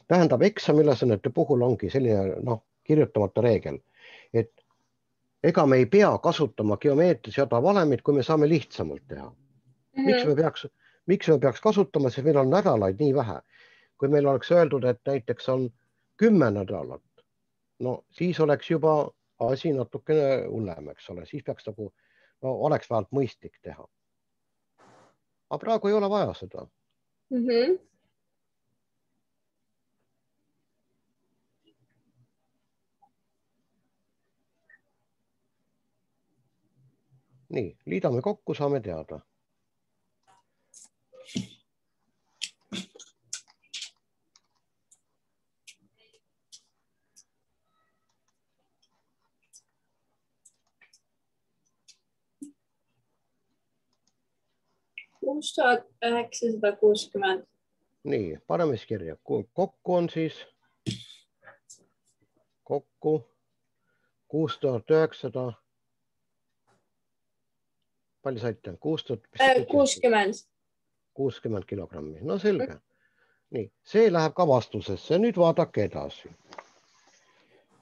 tähendab eksamiülesannete puhul ongi selline kirjutamata reegel, et ega me ei pea kasutama geomeetris jada valemit, kui me saame lihtsamalt teha. Miks me peaks kasutama, sest meil on nädalaid nii vähe. Kui meil oleks öeldud, et näiteks on 10 nädalat, no siis oleks juba asi natukene hullem, eks ole, siis peaks nagu, oleks vähemalt mõistlik teha. Aga praegu ei ole vaja seda. Nii, liidame kokku, saame teada.
$6960.
Nii, paneme siis kirja. Kokku on siis 6900. palju saite? 60 kilogrammi. No selge. Nii, see läheb ka vastusesse. Nüüd vaadake edasi.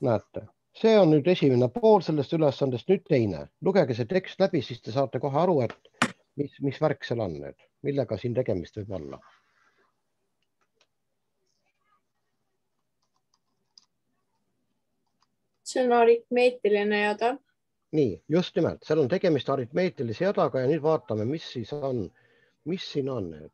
Näete, see on nüüd esimene pool sellest ülesandest, nüüd teine. Lugege see tekst läbi, siis te saate kohe aru, et mis värk seal on nüüd, millega siin tegemist võib olla.
See on aritmeetiline jada.
Nii, just nimelt, seal on tegemist aritmeetilise jadaga ja nüüd vaatame, mis siis on, mis siin on nüüd.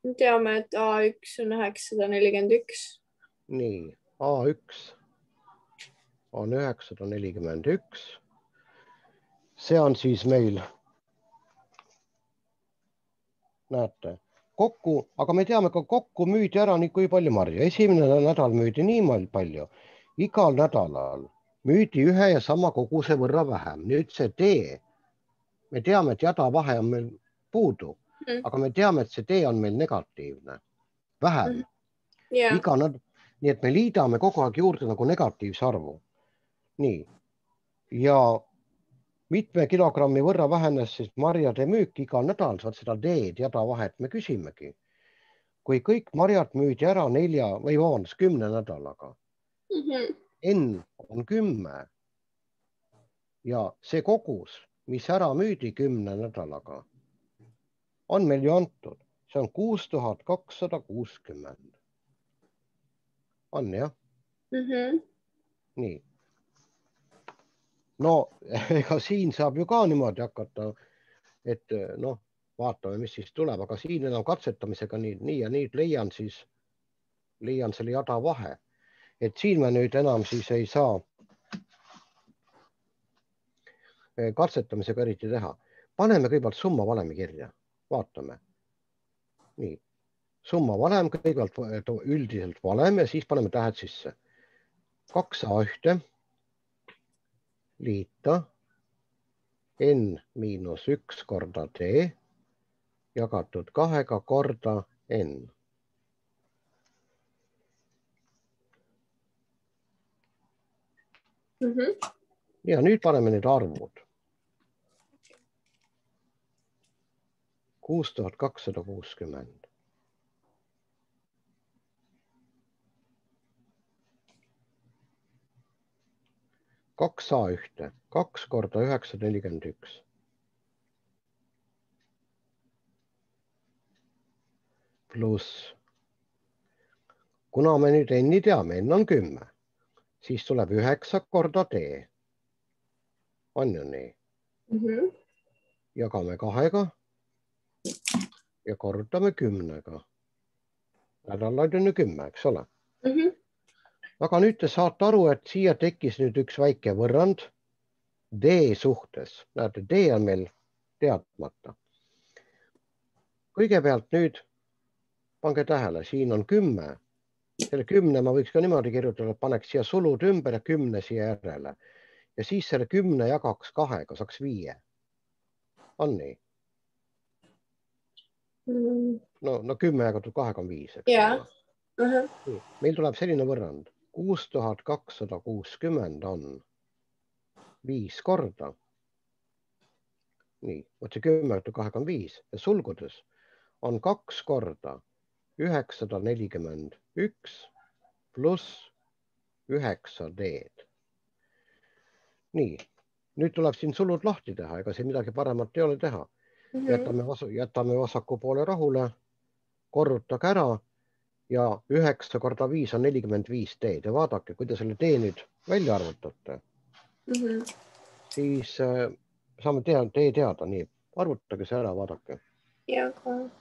Me teame, et A1 on 941.
Nii, A1 on 941. See on siis meil, näete, kokku, aga me teame ka kokku müüdi ära nii kui palju marju. Esimene nädal müüdi nii palju. Igal nädalal müüdi ühe ja sama koguse võrra vähem. Nüüd see tee, me teame, et jada vahe on meil puudu, aga me teame, et see tee on meil negatiivne. Vähem. Nii et me liidame kogu aeg juurde nagu negatiivse arvu. Nii. Ja mitme kilogrammi võrra vähenes siis marjade müük igal nädal, saad seda teed, jada vahet me küsimegi. Kui kõik marjad müüdi ära 10 nädalaga, N on 10 ja see kogus, mis ära müüdi 10 nädalaga, on meil ju antud. See on 6260. On jah? Nii. No ega siin saab ju ka niimoodi hakata, et noh, vaatame, mis siis tuleb, aga siin enam katsetamisega nii ja nii leian selle jada vahe. Et siin me nüüd enam siis ei saa katsetamisega eriti teha. Paneme kõigepealt summa valemi kirja, vaatame. Nii, summa valem, kõigepealt üldiselt valem ja siis paneme tähed sisse. 2A1 liita N-1 korda T jagatud 2 korda N. Ja nüüd paneme need arvud. 6260. Kaks A1, 2 korda 941. Pluss, kuna me nüüd N-i teame, N on 10, siis tuleb 9 korda T. On ju nii? Jagame 2-ga ja korrutame 10-ga. Nädalaid on ju 10, eks ole? Aga nüüd te saate aru, et siia tekkis nüüd üks väike võrrand D suhtes. Näete, D on meil teadmata. Kõigepealt nüüd pange tähele, siin on 10. Selle 10 ma võiks ka niimoodi kirjutada, et paneks siia sulud ümber ja 10 siia järele. Ja siis selle 10 jagaks 2-ga, saaks 5. On nii? No 10 jagatud 2-ga on 5. Meil tuleb selline võrrand. 6260 on 5 korda. Nii, võtse 10 jagatud 2-ga on 5 ja sulgudes on 2 korda 941 pluss 9 D-d. Nii, nüüd tuleb siin sulud lahti teha, ega siin midagi paremat ei ole teha. Jätame vasaku poole rahule, korrutage ära ja 9 korda 5 on 45 D-d ja vaadake, kui te selle D nüüd välja arvutate, siis saame D teada, nii, arvutage see ära, vaadake.
Ja, ka.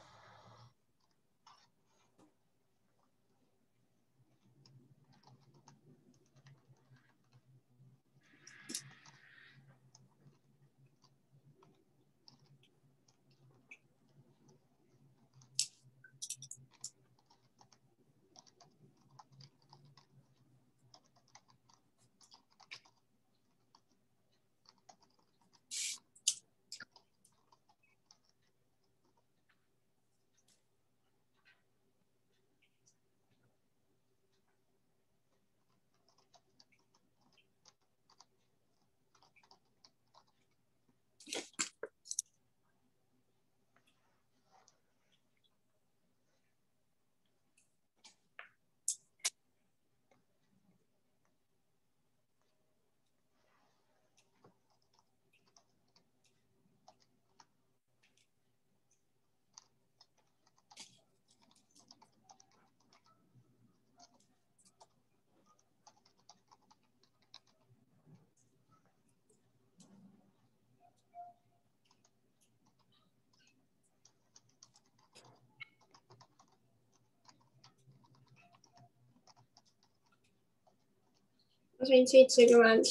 Ma sain 70.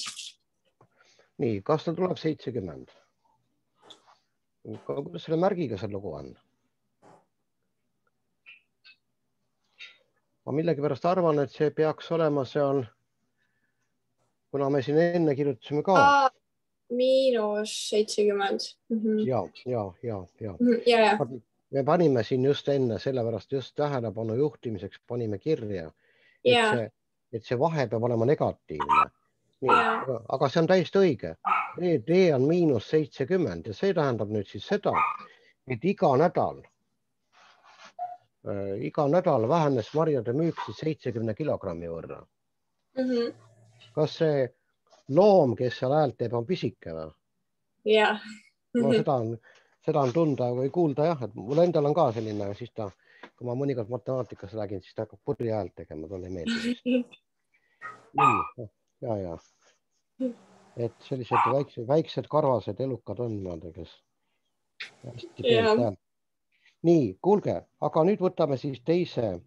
Nii, kas ta tuleb 70? Kuidas selle märgiga see lugu on? Ma millegipärast arvan, et see peaks olema seal, kuna me siin enne kirjutasime ka.
-70.
Ja. Me panime siin just enne, sellepärast just tähelepanu juhtimiseks panime kirja, et see vahe peab olema negatiivne. Nii, aga see on täiesti õige. D on -70 ja see tähendab nüüd siis seda, et iga nädal vähenes marjade müük siis 70 kilogrammi võrra. Kas see loom, kes seal häält teeb, on pisike või?
Jah.
No seda on tunda või kuulda jah, et mul endal on ka selline, siis ta, kui ma mõnikord matemaatikas räägin, siis ta hakkab purri häält tegema, talle ei meeldi. Nii, ja. Et sellised väiksed karvased elukad on niimoodi, kes hästi peelt häält. Nii, kuulge, aga nüüd võtame siis teie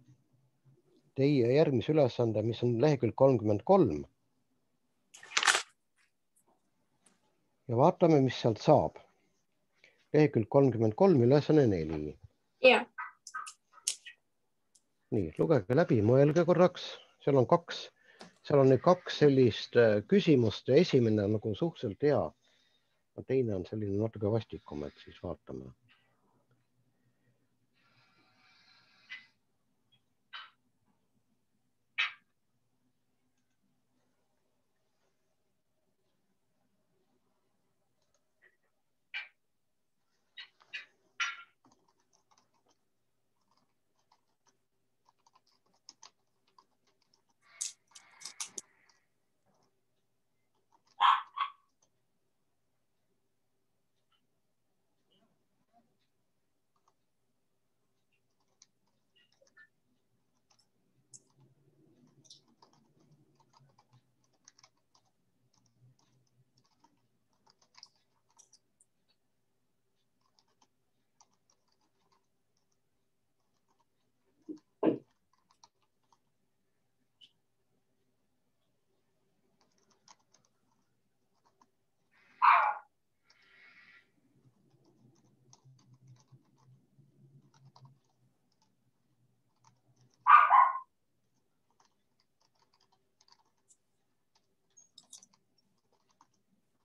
järgmise ülesande, mis on lehekülg 33. Ja vaatame, mis sealt saab. Lehekülg 33, ülesanne 4.
Jah.
Nii, lugege läbi, mõelge korraks. Seal on nüüd kaks sellist küsimust ja esimene nagu suhteliselt hea. Teine on selline natuke vastikum, et siis vaatame.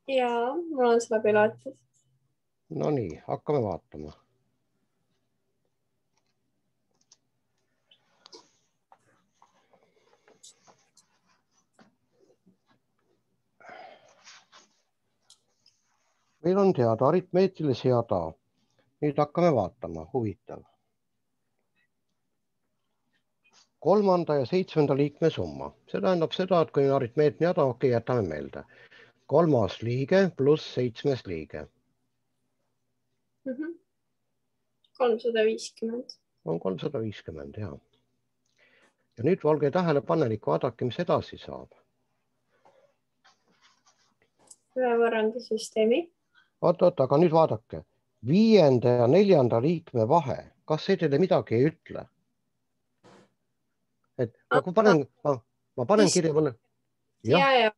Jaa, mul on seda pilatud.
No nii, hakkame vaatama. Meil on teada aritmeetilise jada. Nüüd hakkame vaatama, huvitav. 3. ja 7. liikme summa. See tähendab seda, et kui on aritmeetiline jada, okei, jätame meelde. 3. liige pluss 7. liige.
350.
On 350, jah. Ja nüüd olge tähelepanelik, vaadake, mis edasi saab.
Ühe võrrandisüsteemi.
Oot, aga nüüd vaadake. 5. ja 4. liikme vahe. Kas see teile midagi ei ütle? Et ma panen kirja mõne.
Ja.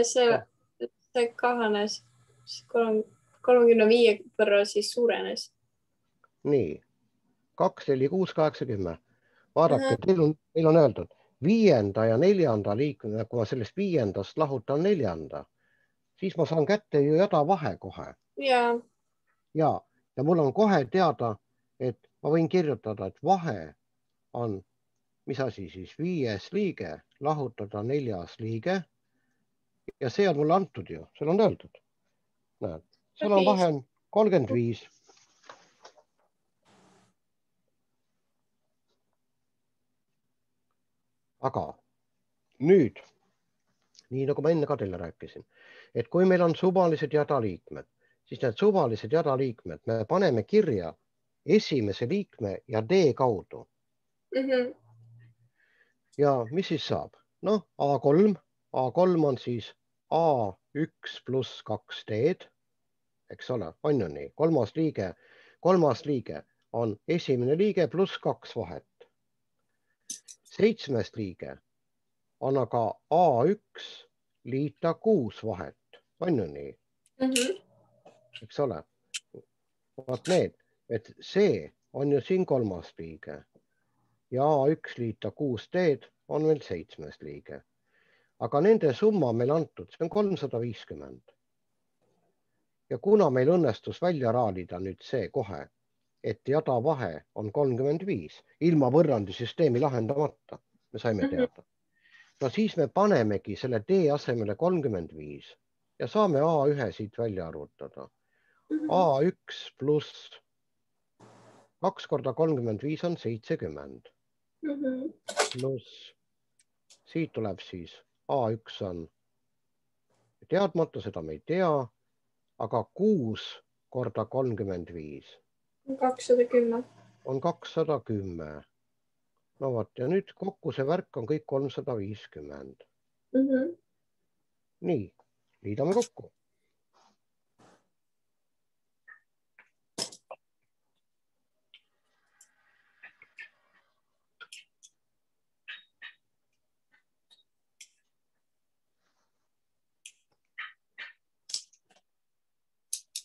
See kahanes 35 võrra siis suurenes.
Nii. 2, 4, 6, 8, 10. Vaadake, teil on öeldud 5. ja 4. liikme, kui ma sellest 5. lahutan 4., siis ma saan kätte ju jada vahe kohe. Ja mul on kohe teada, et ma võin kirjutada, et vahe on, mis asi siis, 5. liige lahutada 4. liige. Ja see on mulle antud ju, seal on öeldud. Näed, seal on vahe on 35. Aga nüüd, nii nagu ma enne ka teile rääkisin, et kui meil on suvalised jadaliikmed, siis need suvalised jadaliikmed me paneme kirja esimese liikme ja D kaudu. Ja mis siis saab? Noh, A3 on siis A1 pluss 2D, eks ole, on ju nii. 3. liige on esimene liige pluss 2 vahet. 7. liige on aga A1 liita 6 vahet, on ju nii? Eks ole? Vaat need, et see on ju siin 3. liige ja A1 liita 6 teed on meil 7. liige. Aga nende summa meil antud, see on 350. Ja kuna meil õnnestus välja raalida nüüd see kohe, et jada vahe on 35, ilma võrrandisüsteemi lahendamata, me saime teada. No siis me panemegi selle D asemele 35 ja saame A1 siit välja arvutada. A1 pluss 2 korda 35 on 70. Pluss siit tuleb siis A1 on teadmata, seda me ei tea, aga 6 korda 35
210.
On 210. No vot, ja nüüd kokku see värk on kõik 350. Nii, liidame kokku.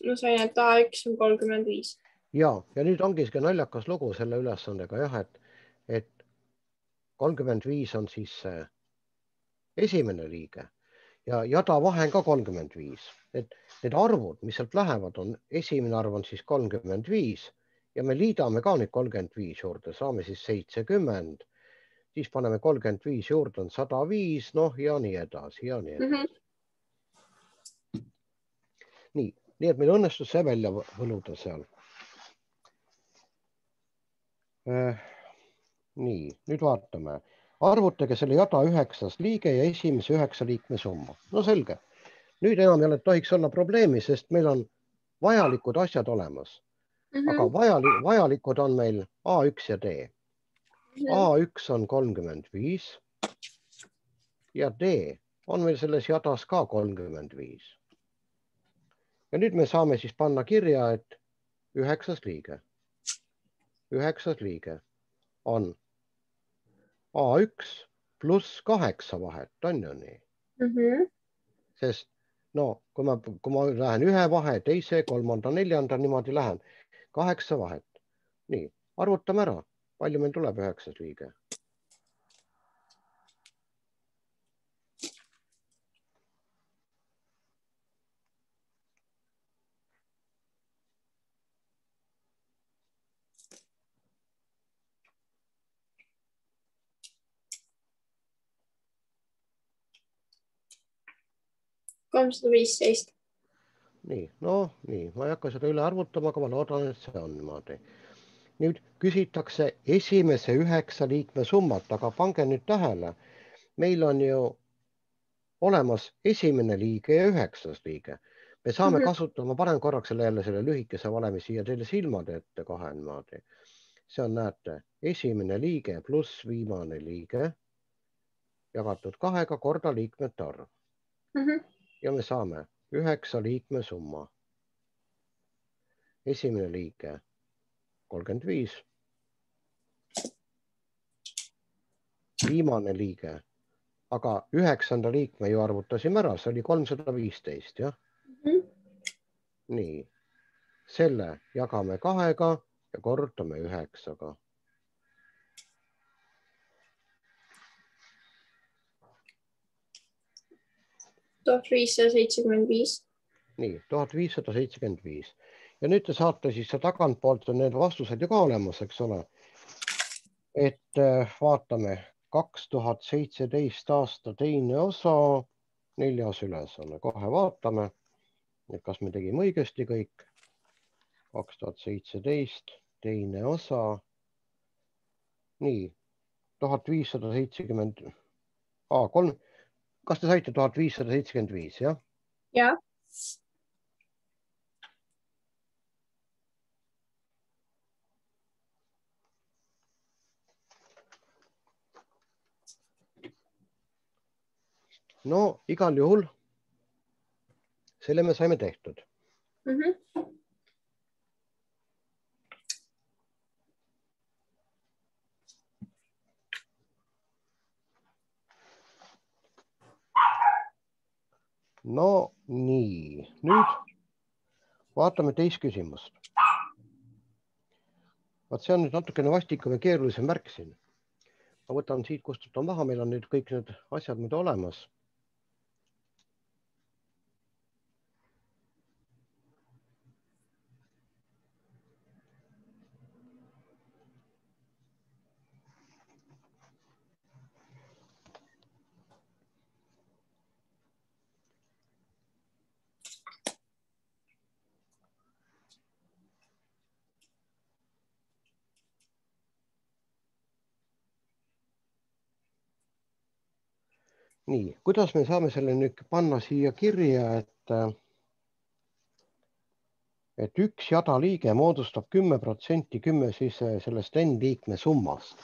Ma sain, et A1 on 35.
Ja nüüd ongi naljakas lugu selle ülesandega, jah, et 35 on siis see esimene liige ja jada vahe on ka 35. Et need arvud, mis sealt lähevad, on esimene arv on siis 35 ja me liidame ka nüüd 35 juurde, saame siis 70, siis paneme 35 juurde, on 105, noh ja nii edasi ja nii edasi. Nii et meil õnnestus see välja võluda seal. Nii, nüüd vaatame. Arvutage selle jada 9. liige ja esimese 9 liikme summa. No selge. Nüüd enam ei tohiks olla probleemi, sest meil on vajalikud asjad olemas. Aga vajalikud on meil A1 ja D. A1 on 35 ja D on meil selles jadas ka 35. Ja nüüd me saame siis panna kirja, et 9. liige. 9. liige on A1 pluss 8 vahet, on ju nii? Sest no, kui ma lähen ühe vahe, teise, kolmanda, neljanda, niimoodi lähen, 8 vahet. Nii, arvutame ära, palju meil tuleb 9. liige.
$315.
Nii, no nii, ma ei hakka seda üle arvutama, aga ma loodan, et see on niimoodi. Nüüd küsitakse esimese 9 liikme summat, aga pange nüüd tähele, meil on ju olemas esimene liige ja 9. liige. Me saame kasutada, ma panen korraks selle lühikese valemi siia teile silmade ette kohe niimoodi. See on, näete, esimene liige pluss viimane liige jagatud 2 korda liikmete arv. Ja me saame 9 liikme summa. Esimene liige 35. Viimane liige, aga 9. liikme ju arvutasime ära, see oli 315, jah? Nii, selle jagame 2 ja korrutame 9.
$1575.
Nii, 1575. Ja nüüd te saate siis tagantpoolt need vastused ju ka olemas, eks ole. Et vaatame 2017 aasta teine osa, 4. ülesanne. Kohe vaatame, et kas me tegime õigesti kõik. 2017 teine osa. Nii, 1570. Kas te saite 1575, jah?
Jah.
No igal juhul selle me saime tehtud. No nii, nüüd vaatame teist küsimust. Vaat see on nüüd natukene vastikum ja keerulisem märk siin. Ma võtan siit, kustutan maha, meil on nüüd kõik need asjad mida olemas. Nii, kuidas me saame selle nüüd panna siia kirja, et üks jada liige moodustab 10% 10 siis sellest N liikme summast.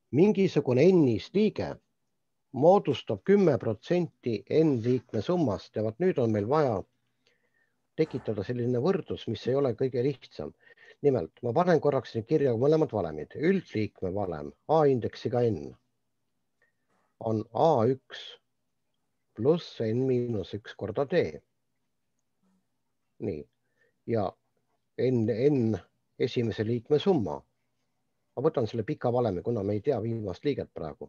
Mingisugune N-is liige moodustab 10% N liikme summast ja vaat nüüd on meil vaja tekitada selline võrdlus, mis ei ole kõige lihtsam. Nimelt, ma panen korraks kirja mõlemad valemid. Üldliikme valem A-indeksiga N on A1 pluss N-1 korda D. Nii, ja N esimese liikme summa. Ma võtan selle pika valemi, kuna me ei tea viimast liiget praegu.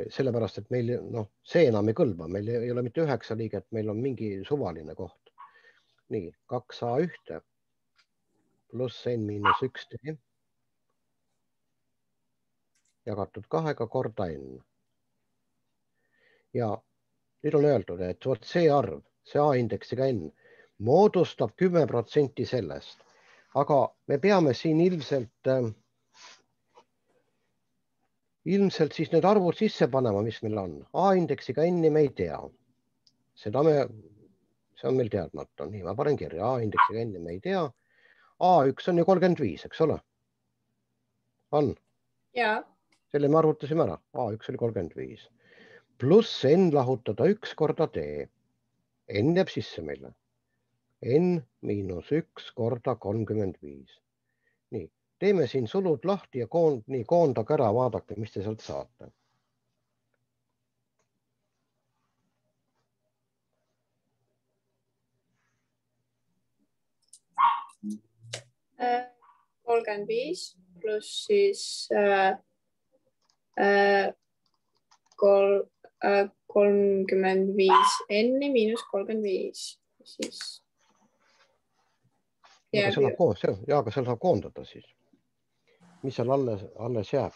Sellepärast, et meil see enam ei kõlba. Meil ei ole mitte 9 liiget, meil on mingi suvaline koht. Nii, 2A1 pluss N-1 D jagatud 2 korda N. Ja nüüd on öeldud, et vot see arv, see A-indeksiga N, moodustab 10% sellest. Aga me peame siin ilmselt siis need arvud sisse panema, mis meil on. A-indeksiga N-i me ei tea. See on meil teadmata. Nii, ma panen kirja. A-indeksiga N-i me ei tea. A1 on ju 35, eks ole? On?
Jaa.
Selle me arvutasime ära. A1 oli 35. Pluss N lahutada 1 korda D. N jääb sisse meile. N-1 korda 35. Nii, teeme siin sulud lahti ja koondage ära, vaadake, mis te sealt saate.
Äh, 35 pluss siis 35 N-i miinus 35. Siis...
Aga seal saab koondada siis. Mis seal alles jääb?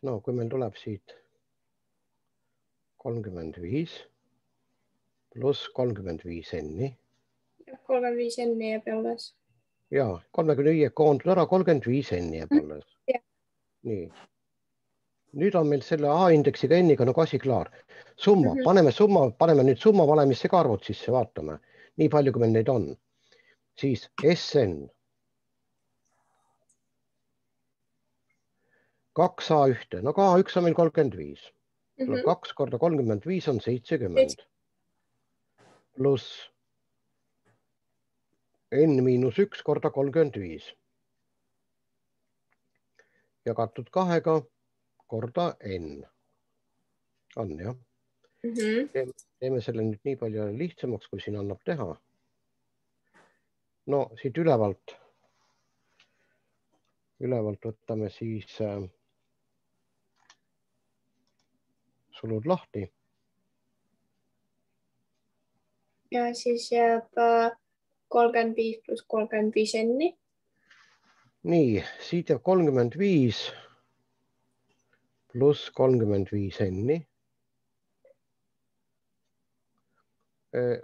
No kui meil tuleb siit 35 pluss 35 N-i.
35 N-i jääb alles.
Ja, 35 koondud ära, 35 N-i jääb alles. Nii. Nüüd on meil selle A-indeksiga N-iga nagu asi klaar. Summa, paneme nüüd summa valemisse ka arvud sisse, vaatame. Nii palju, kui meil neid on. Siis SN. 2A1, no A1 on meil 35. 2 korda 35 on 70. Pluss N-1 korda 35. Jagatud 2 korda N. On, jah? Teeme selle nüüd nii palju lihtsamaks, kui siin annab teha. No siit ülevalt võtame siis sulud lahti.
Ja siis jääb 35 pluss 35 N-i.
Nii, siit jääb 35 pluss 35 N-i.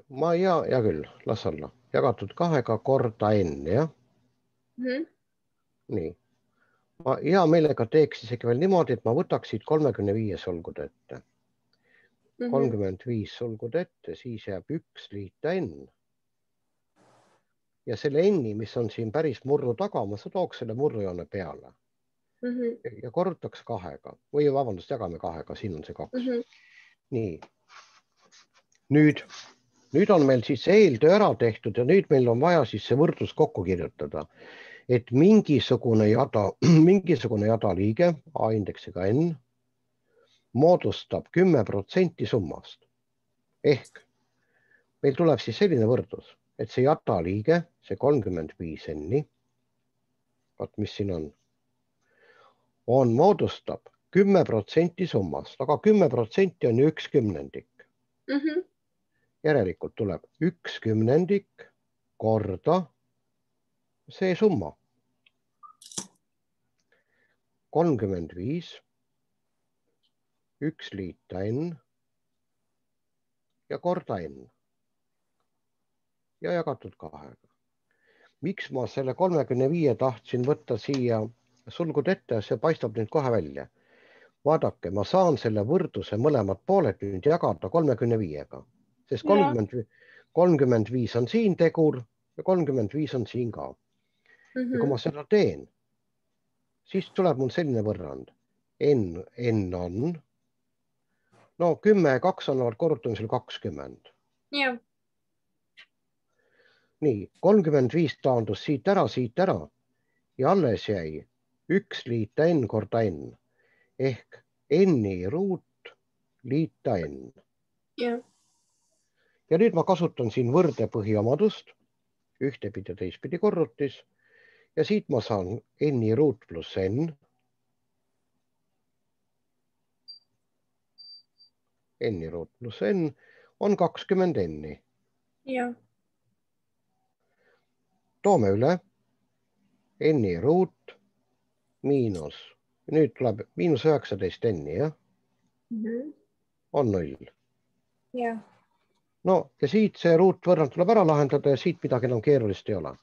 Ma hea küll, las olla. Jagatud 2 korda N, jah? Nii. Ma hea meelega teeks isegi veel niimoodi, et ma võtaks siit 35 sulgud ette. 35 sulgud ette, siis jääb 1 liita N. Ja selle N-i, mis on siin päris murru taga, ma tooks selle murrujoone peale. Ja korrutaks 2-ga. Või vabandust, jagame 2-ga, siin on see 2. Nii. Nüüd nüüd on meil siis see eeltöö ära tehtud ja nüüd meil on vaja siis see võrdlus kokku kirjutada, et mingisugune jada liige A-indeksiga n moodustab 10% summast. Ehk meil tuleb siis selline võrdlus, et see jada liige, see 35 n, vaat mis siin on moodustab 10% summast, aga 10% on ju 1/10. Järelikult tuleb 1/10 korda see summa. 35, 1 liita n ja korda n ja jagatud 2. Miks ma selle 35 tahtsin võtta siia sulgud ette, see paistab nüüd kohe välja. Vaadake, ma saan selle võrdluse mõlemad pooled nüüd jagada 35-ga, sest 35 on siin tegur ja 35 on siin ka. Ja kui ma seda teen, siis tuleb mul selline võrrand. N on, no 10 ja 2 annavad korrutamisel 20.
Jah.
Nii, 35 taandus siit ära ja alles jäi 1 liita n korda n ehk n-i ruut liita n.
Ja
nüüd ma kasutan siin võrdepõhiomadust, ühtepidi ja teistpidi korrutis ja siit ma saan n-i ruut pluss n. N-i ruut pluss n on 20 n-i.
Ja.
Toome üle n-i ruut miinus, nüüd tuleb miinus 19 n-i, jah? On 0.
Ja.
No ja siit see ruutvõrrand tuleb ära lahendada ja siit midagi enam keerulist ei ole.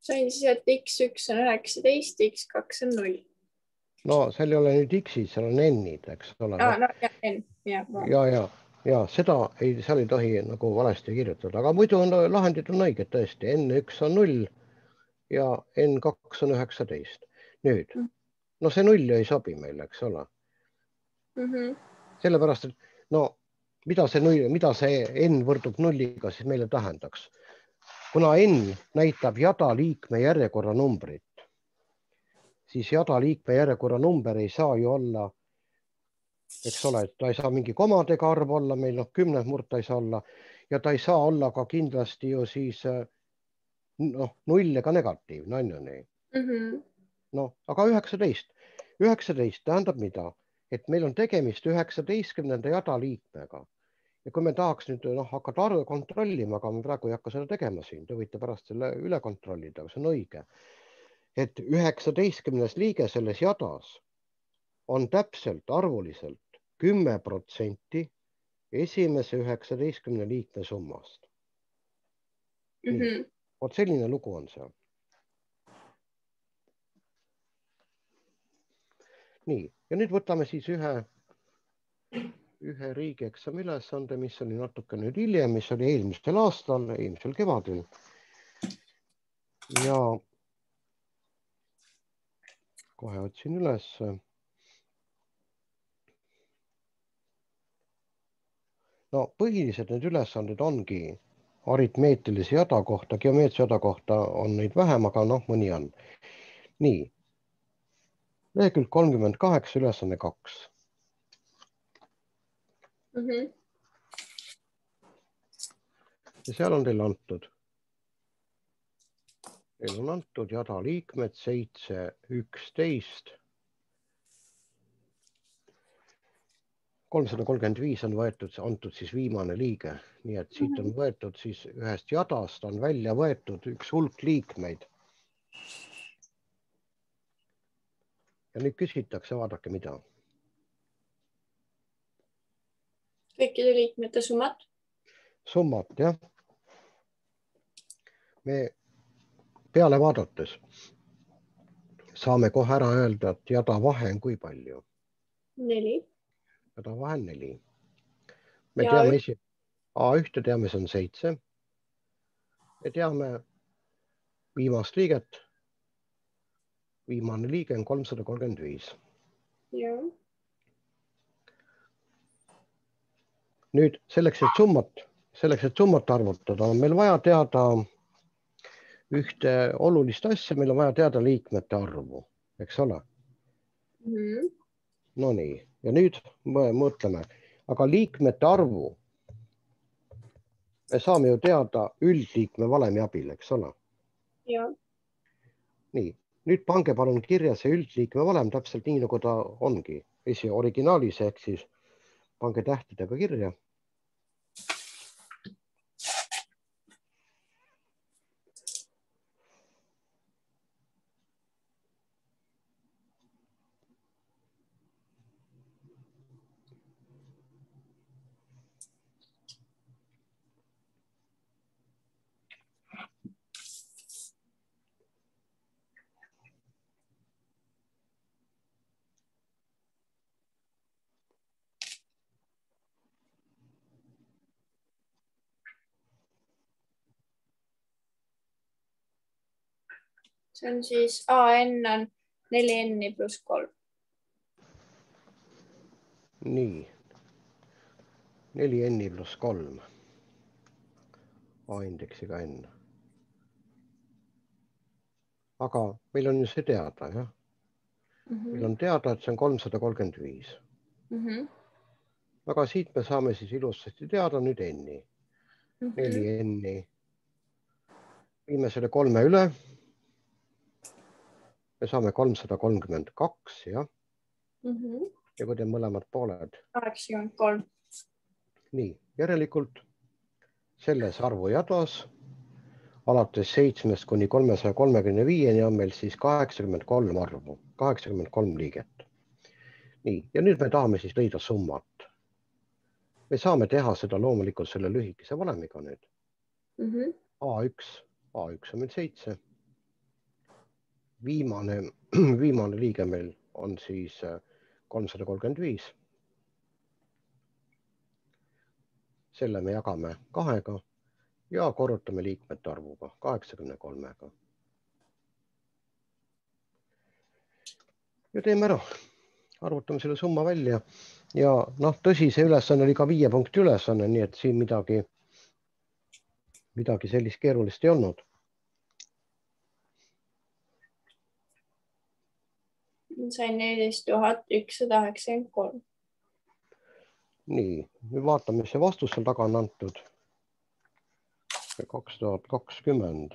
Sain siis, et x1 on 19, x2 on 0.
No seal ei ole nüüd x-id, seal on n-id, eks ole.
No ja n.
Ja seda seal ei tohi nagu valesti kirjutada, aga muidu on lahendid on õiged tõesti. N1 on 0 ja N2 on 19. Nüüd, no see 0 ei sobi meile, eks ole. Sellepärast, et no mida see N võrdub 0-ga, siis meile tähendaks. Kuna N näitab jada liikme järjekorra numbrit, siis jada liikme järjekorra number ei saa ju olla, eks ole, et ta ei saa mingi komadega arv olla, meil 10 murta ei saa olla ja ta ei saa olla ka kindlasti ju siis 0 ega negatiivne, on ju nii. No, aga 19 tähendab mida? Et meil on tegemist 19. jada liikmega. Ja kui me tahaks nüüd hakata arve kontrollima, aga me praegu ei hakka seda tegema siin, te võite pärast selle üle kontrollida, aga see on õige. Et 19. liige selles jadas on täpselt arvuliselt 10% esimese 19 liikme summast. Vot selline lugu on see. Nii, ja nüüd võtame siis ühe riigieksami ülesande, mis oli natuke nüüd hiljem, mis oli eelmisel aastal, eelmisel kevadel. Ja kohe otsin üles. No põhilised need ülesanded ongi aritmeetilise jada kohta, geomeetria jada kohta on neid vähem, aga mõni on. Nii, lehekülg 38, ülesanne 2. Ja seal on teil antud Neil on antud jada liikmed 7, 11. 335 on võetud, antud siis viimane liige, nii et siit on võetud siis ühest jadast on välja võetud üks hulk liikmeid. Ja nüüd küsitakse, vaadake mida.
Kõikide liikmete summat.
Summat, jah. Me peale vaadates saame kohe ära öelda, et jada vahe on kui palju.
4.
Jada vahe on 4. Me teame A1 teame, see on 7. Me teame viimast liiget. Viimane liige on 335.
Ja.
Nüüd selleks, et summat arvutada, on meil vaja teada ühte olulist asja, meil on vaja teada liikmete arvu, eks ole? No nii, ja nüüd mõtleme, aga liikmete arvu me saame ju teada üldliikme valemi abil, eks ole?
Ja.
Nii, nüüd pange palun kirja see üldliikme valem täpselt nii, nagu ta ongi. Originaalis ehk siis pange tähtedega kirja.
See on siis AN on 4N pluss 3.
Nii, 4N pluss 3. A-indeksiga N. Aga meil on ju see teada, jah? Meil on teada, et see on 335. Aga siit me saame siis ilusasti teada nüüd N-i. 4N-i. Viime selle 3 üle. Me saame 332, jah? Ja kui te mõlemad pooled.
83.
Nii, järelikult selles arvujadas alates 7 kuni 335 on meil siis 83 arvu, 83 liiget. Nii, ja nüüd me tahame siis leida summat. Me saame teha seda loomulikult selle lühikese valemiga nüüd. A1 on meil 7. Viimane liige meil on siis 335. Selle me jagame 2-ga ja korrutame liikmete arvuga 83-ga. Ja teeme ära. Arvutame selle summa välja. Ja noh, tõsi, see ülesanne oli ka 5 punkti ülesanne, nii et siin midagi sellist keerulist ei olnud.
Sain 14 193.
Nii, nüüd vaatame, mis see vastus seal taga on antud. 2020.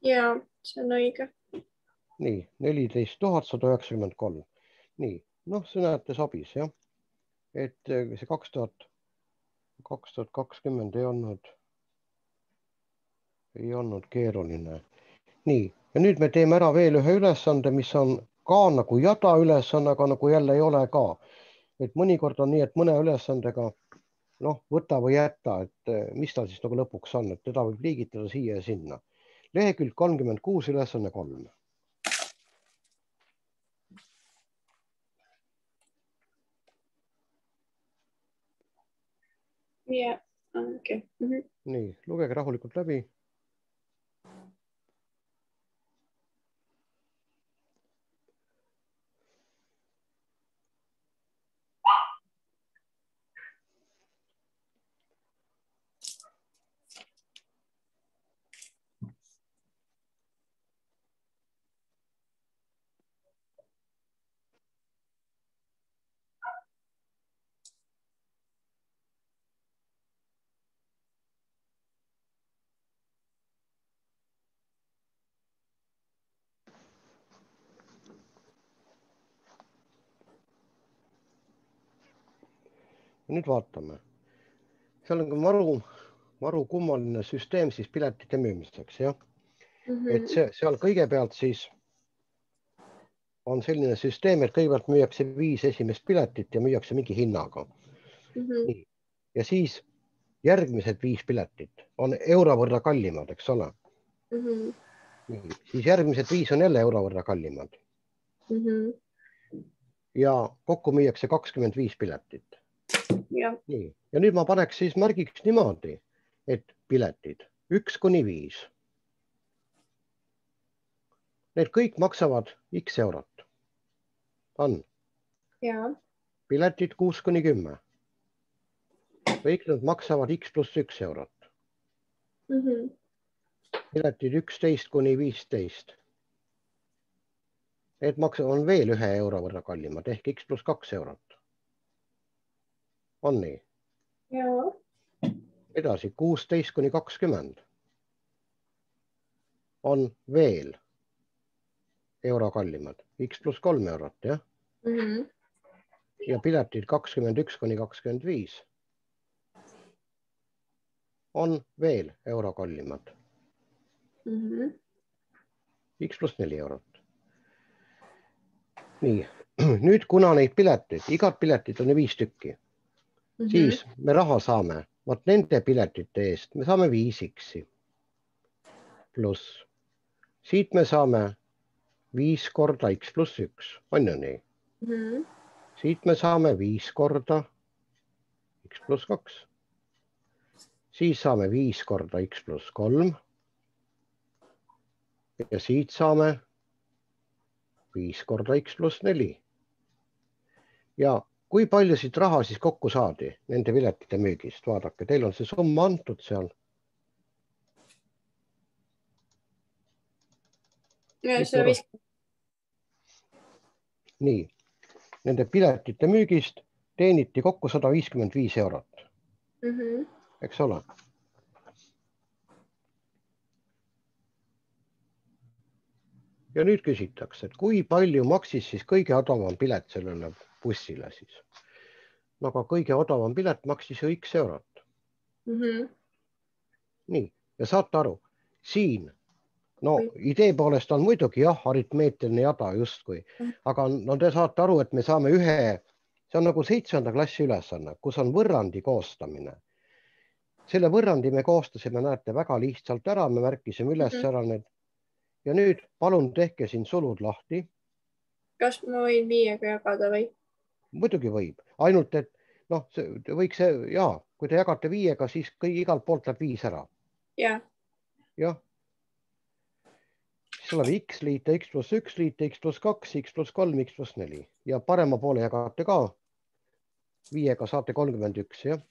Ja, see on õige.
Nii, 14 193. Nii, noh, see näete sabis, jah? Et see 2020 ei olnud keeruline. Nii, ja nüüd me teeme ära veel ühe ülesande, mis on ka nagu jada ülesanne, aga nagu jälle ei ole ka. Et mõnikord on nii, et mõne ülesandega võta või jätta, et mis ta siis nagu lõpuks on, et teda võib liigitada siia ja sinna. Lehekülg 36, ülesanne 3.
Ja, okei.
Nii, lugege rahulikult läbi. nüüd vaatame. Seal on maru kummaline süsteem siis piletite müümiseks, jah. Et seal kõigepealt siis on selline süsteem, et kõigepealt müüakse 5 esimest piletit ja müüakse mingi hinnaga. Nii. Ja siis järgmised 5 piletit on euro võrra kallimad, eks ole. Nii. Siis järgmised 5 on jälle euro võrra kallimad. Ja kokku müüakse 25 piletit. Nii. Ja nüüd ma paneks siis märgiks niimoodi, et piletid 1–5. Need kõik maksavad X eurot. On. Piletid 6–10. Kõik nad maksavad X + 1 eurot. Piletid 11–15. Need on veel 1 euro võrra kallimad ehk X + 2 eurot. On nii? Edasi 16–20 on veel euro kallimad, X + 3 eurot, jah? Ja piletid 21–25 on veel euro kallimad. X + 4 eurot. Nii, nüüd kuna neid pileteid, igat piletit on 5 tükki, siis me raha saame, vaat nende piletite eest me saame 5X. Pluss siit me saame 5 korda X + 1, on ju nii? Siit me saame 5 korda X + 2. Siis saame 5 korda X + 3. Ja siit saame 5 korda X + 4. Ja kui palju siit raha siis kokku saadi nende piletite müügist? Vaadake, teil on see summa antud seal. Nii, nende piletite müügist teeniti kokku 155 eurot. Eks ole? Ja nüüd küsitakse, et kui palju maksis siis kõige odavam pilet sellele bussile siis? Aga kõige odavam pilet maksis ju X eurot. Nii, ja saate aru, siin, no idee poolest on muidugi jah, aritmeetiline jada justkui, aga no te saate aru, et me saame see on nagu 7. klassi ülesanne, kus on võrrandi koostamine. Selle võrrandi me koostasime, näete, väga lihtsalt ära, me märkisime üles ära need. Ja nüüd palun tehke siin sulud lahti.
Kas ma võin 5-ga jagada või?
Muidugi võib, ainult et noh, võiks see, jaa, kui te jagate 5-ga, siis igalt poolt läheb 5 ära. Jah. Siis tuleb X liita X + 1 liita X + 2, X + 3, X + 4. Ja parema poole jagate ka 5-ga saate 31, jah?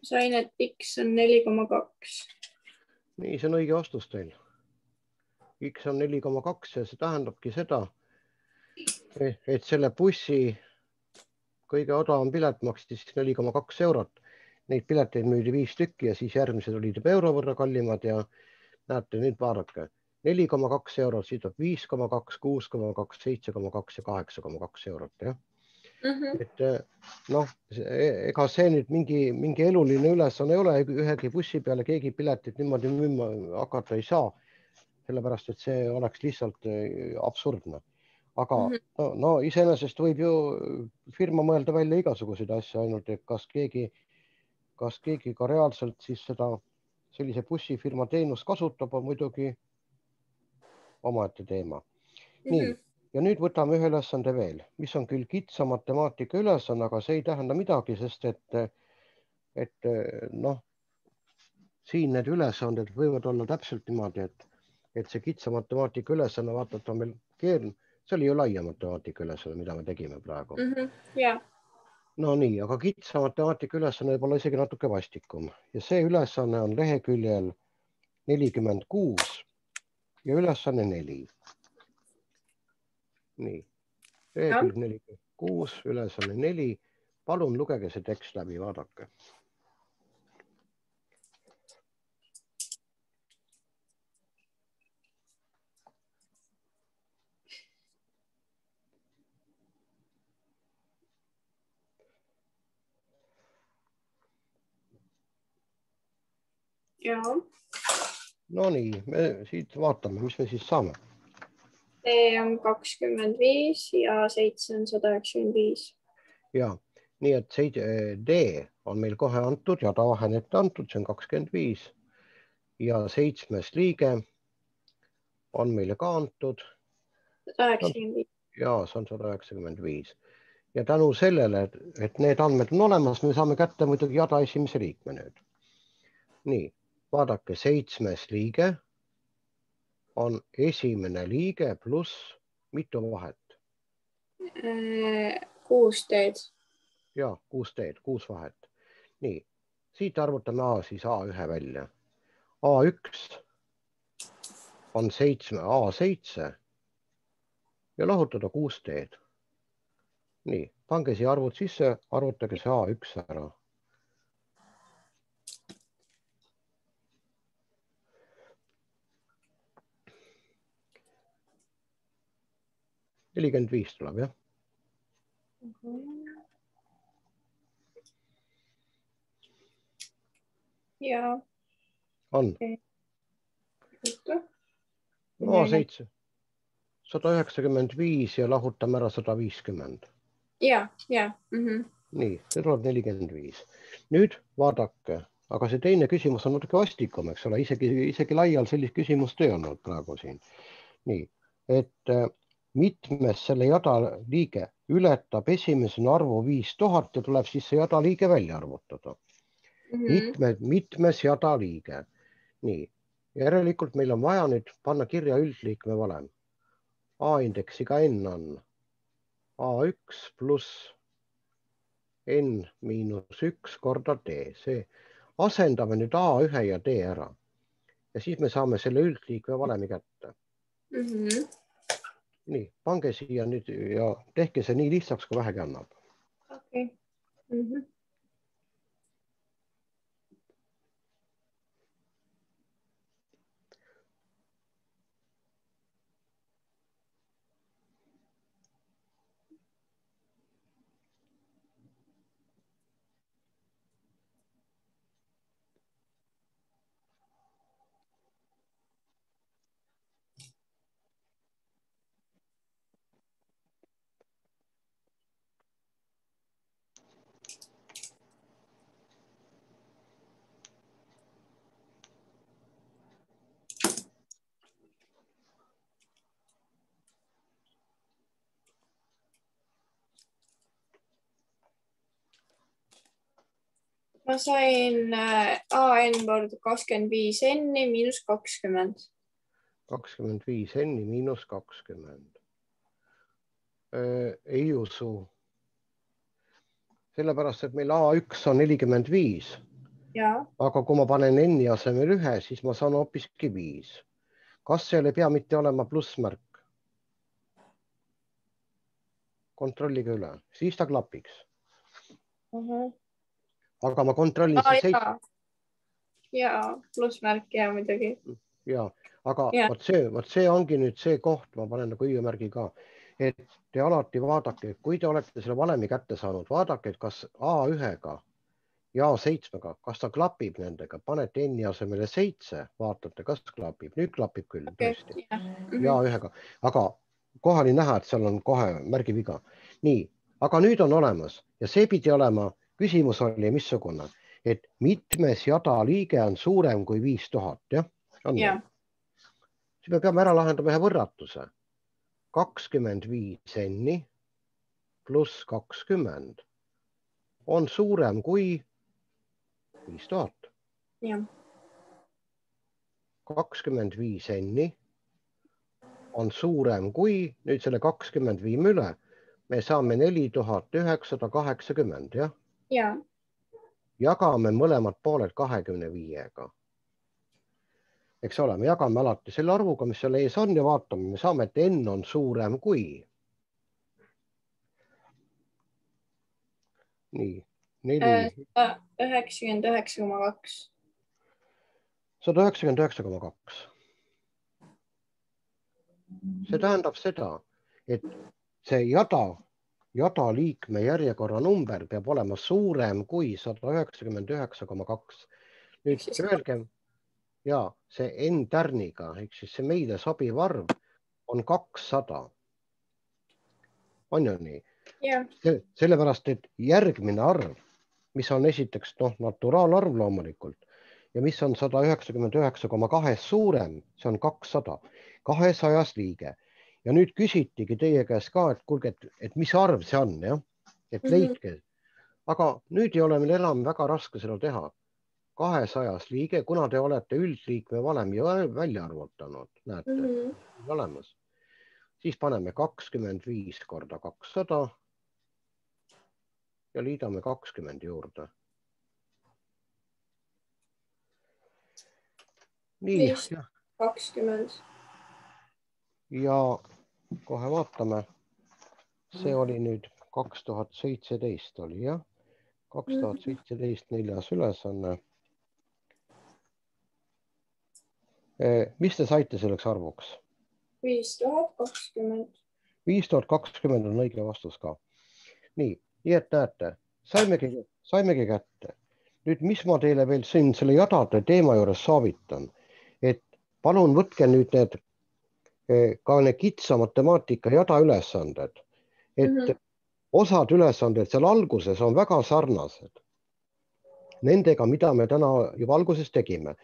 Sain, et X on 4,2.
Nii, see on õige vastus teil. X on 4,2 ja see tähendabki seda, et selle bussi kõige odavam pilet maksis 4,2 eurot. Neid pileteid müüdi 5 tükki ja siis järgmised olid euro võrra kallimad ja näete, nüüd vaadake. 4,2 eurot, siit on 5,2, 6,2, 7,2 ja 8,2 eurot, jah? Et noh, ega see nüüd mingi eluline ülesanne ei ole, ühegi bussi peale keegi piletit niimoodi müüma hakata ei saa, sellepärast et see oleks lihtsalt absurdne. aga no iseenesest võib ju firma mõelda välja igasuguseid asju, ainult et kas keegi ka reaalselt siis sellise bussifirma teenust kasutab, on muidugi omaette teema. Nii, ja nüüd võtame ühe ülesande veel, mis on küll kitsa matemaatika ülesanne, aga see ei tähenda midagi, sest et noh, siin need ülesanded võivad olla täpselt niimoodi, et see kitsa matemaatika ülesanne, vaatad, on meil keeruline, see oli ju laia matemaatika ülesanne, mida me tegime praegu.
Yeah.
No nii, aga kitsa matemaatika ülesanne võib olla isegi natuke vastikum ja see ülesanne on leheküljel 46 ja ülesanne 4. Nii, lehekülg 46, ülesanne 4. Palun lugege see tekst läbi, vaadake.
Ja.
No nii, me siit vaatame, mis me siis saame.
D on 25 ja 7 on 195.
Ja, nii et D on meil kohe antud ja tavahen ette antud, see on 25 ja 7. liige on meile ka antud.
195.
Ja, see on 195. Ja tänu sellele, et need andmed on olemas, me saame kätte muidugi jada esimese liikme nüüd. Nii, vaadake, 7. liige on esimene liige pluss mitu vahet?
6 teed.
Ja, 6 teed, 6 vahet. Nii, siit arvutame A siis A1 välja. A1 on 7, A7 ja lahutada 6 teed. Nii, pange siia arvud sisse, arvutage see A1 ära. Nelikümmend 5 tuleb, jah?
Ja.
On. No 7. 195 ja lahutame ära 150.
Ja.
Nii, see tuleb 45. Nüüd vaadake, aga see teine küsimus on natuke vastikum, eks ole, isegi laial sellist küsimust ei olnud praegu siin. Nii, et mitmes selle jada liige ületab esimesena arvu 5000 ja tuleb siis see jada liige välja arvutada. Mitmes jada liige. Nii, järelikult meil on vaja nüüd panna kirja üldliikme valem. A-indeksiga n on A1 pluss n miinus 1 korda D. See asendame nüüd A1 ja D ära. Ja siis me saame selle üldliikme valemi kätte. Nii, pange siia nüüd ja tehke see nii lihtsaks, kui vähegi annab.
Okei. Ma sain AN korda 25 N-i miinus 20.
25 N-i miinus 20. Ei usu. Sellepärast, et meil A1 on 45.
Ja.
Aga kui ma panen N-i asemel 1, siis ma saan hoopiski 5. Kas seal ei pea mitte olema plussmärk? Kontrollige üle, siis ta klapiks. Aga ma kontrollin see 7.
Ja, plussmärk ja muidugi.
Ja, aga vot see ongi nüüd see koht, ma panen nagu hüüumärgi ka, et te alati vaadake, kui te olete selle valemi kätte saanud, vaadake, et kas A1-ga ja A7-ga, kas ta klapib nendega, panete N-i asemele 7, vaatate, kas klapib. Nüüd klapib küll, tõesti. Ja A1-ga, aga kohe oli näha, et seal on kohe märgiviga. Nii, aga nüüd on olemas ja see pidi olema, küsimus oli missugune, et mitmes jada liige on suurem kui 5000, jah?
jah.
Siis me peame ära lahendama ühe võrratuse. 25 n pluss 20 on suurem kui 5000.
Jah.
25 n on suurem kui, nüüd selle 20 viime üle, me saame 4980, jah?
Jah.
Jagame mõlemad pooled 25-ga. Eks ole, me jagame alati selle arvuga, mis seal ees on ja vaatame, me saame, et n on suurem kui. Nii, 4.
99,2.
199,2. See tähendab seda, et see jada liikme järjekorra number peab olema suurem kui 199,2. Nüüd öelge, ja see n tärniga, ehk siis see meile sobiv arv on 200. On ju nii?
Jah.
Sellepärast, et järgmine arv, mis on esiteks naturaalarv loomulikult ja mis on 199,2 suurem, see on 200, 200 liige. Ja nüüd küsitigi teie käest ka, et kuulge, et mis arv see on, jah? Et leidke. Aga nüüd ei ole meil enam väga raske seda teha. 200 liige, kuna te olete üldliikme valem välja arvutanud, näete, olemas. Siis paneme 25 korda 200 ja liidame 20 juurde. Nii,
20.
Ja kohe vaatame. See oli nüüd 2017 oli, jah? 2017 4. ülesanne. Mis te saite selleks arvuks?
5020.
5020 on õige vastus ka. Nii et näete, saimegi kätte. Nüüd, mis ma teile veel siin selle jadade teema juures soovitan, et palun võtke nüüd ka need kitsa matemaatika jada ülesanded, et osad ülesanded seal alguses on väga sarnased nendega, mida me täna juba alguses tegime.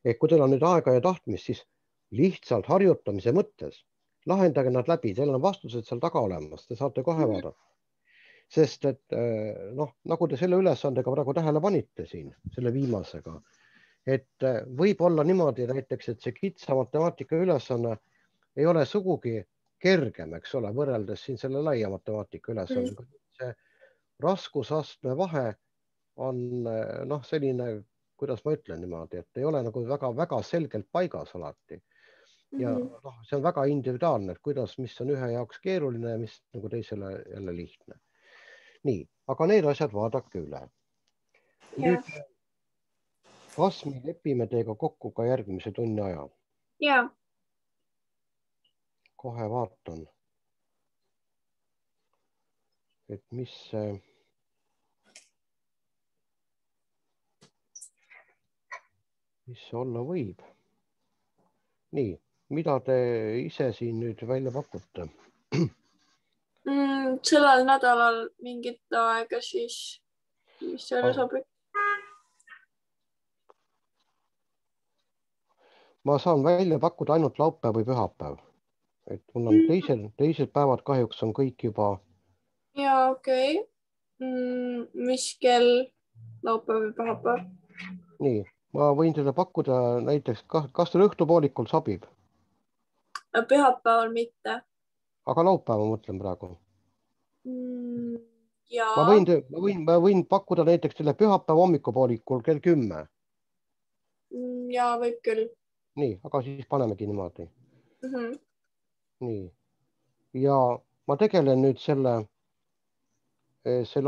Kui teil on nüüd aega ja tahtmist, siis lihtsalt harjutamise mõttes lahendage nad läbi, teil on vastused seal taga olemas, te saate kohe vaadata. Sest et nagu te selle ülesandega praegu tähele panite siin, selle viimasega, et võib olla niimoodi näiteks, et see kitsa matemaatika ülesanne ei ole sugugi kergem, eks ole, võrreldes siin selle laia matemaatika ülesandega. See raskusastme vahe on selline, kuidas ma ütlen niimoodi, et ei ole nagu väga selgelt paigas alati. Ja see on väga individuaalne, et kuidas, mis on ühe jaoks keeruline ja mis nagu teisele jälle lihtne. Nii, aga need asjad vaadake üle. Nüüd, kas me lepime teiega kokku ka järgmise tunni aja?
Jaa.
Kohe vaatan, et mis see olla võib. Nii, mida te ise siin nüüd välja pakute?
Sellel nädalal mingit aega siis, mis selle sobib?
Ma saan välja pakkuda ainult laupäev või pühapäev. Et mul on teised päevad kahjuks on kõik juba.
Jaa, okei. Mis kell laupäev või pühapäev?
Nii, ma võin teile pakkuda näiteks, kas teil õhtupoolikul sobib?
Pühapäeval mitte.
Aga laupäeva mõtlen praegu.
Jaa.
Ma võin pakkuda näiteks teile pühapäeva hommikupoolikul kell 10.
Jaa, võib küll.
Nii, aga siis panemegi niimoodi. Nii. Ja ma tegelen nüüd selle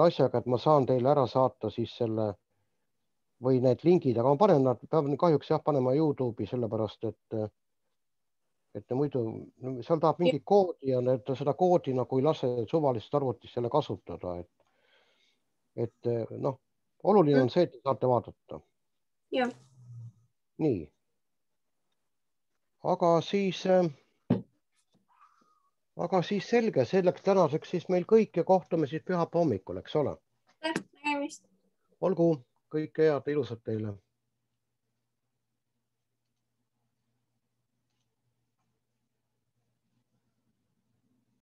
asjaga, et ma saan teile ära saata siis selle või need lingid, aga ma panen nad, pean kahjuks panema YouTube'i sellepärast, et muidu seal tahab mingi koodi ja seda koodi nagu ei lase suvalist arvutist selle kasutada. Et oluline on see, et te saate vaadata.
Jah.
Nii. Aga siis aga siis selge, selleks tänaseks siis meil kõik ja kohtume siis pühapäeva hommikul, eks ole?
Nägemist.
Olgu, kõike head, ilusat teile.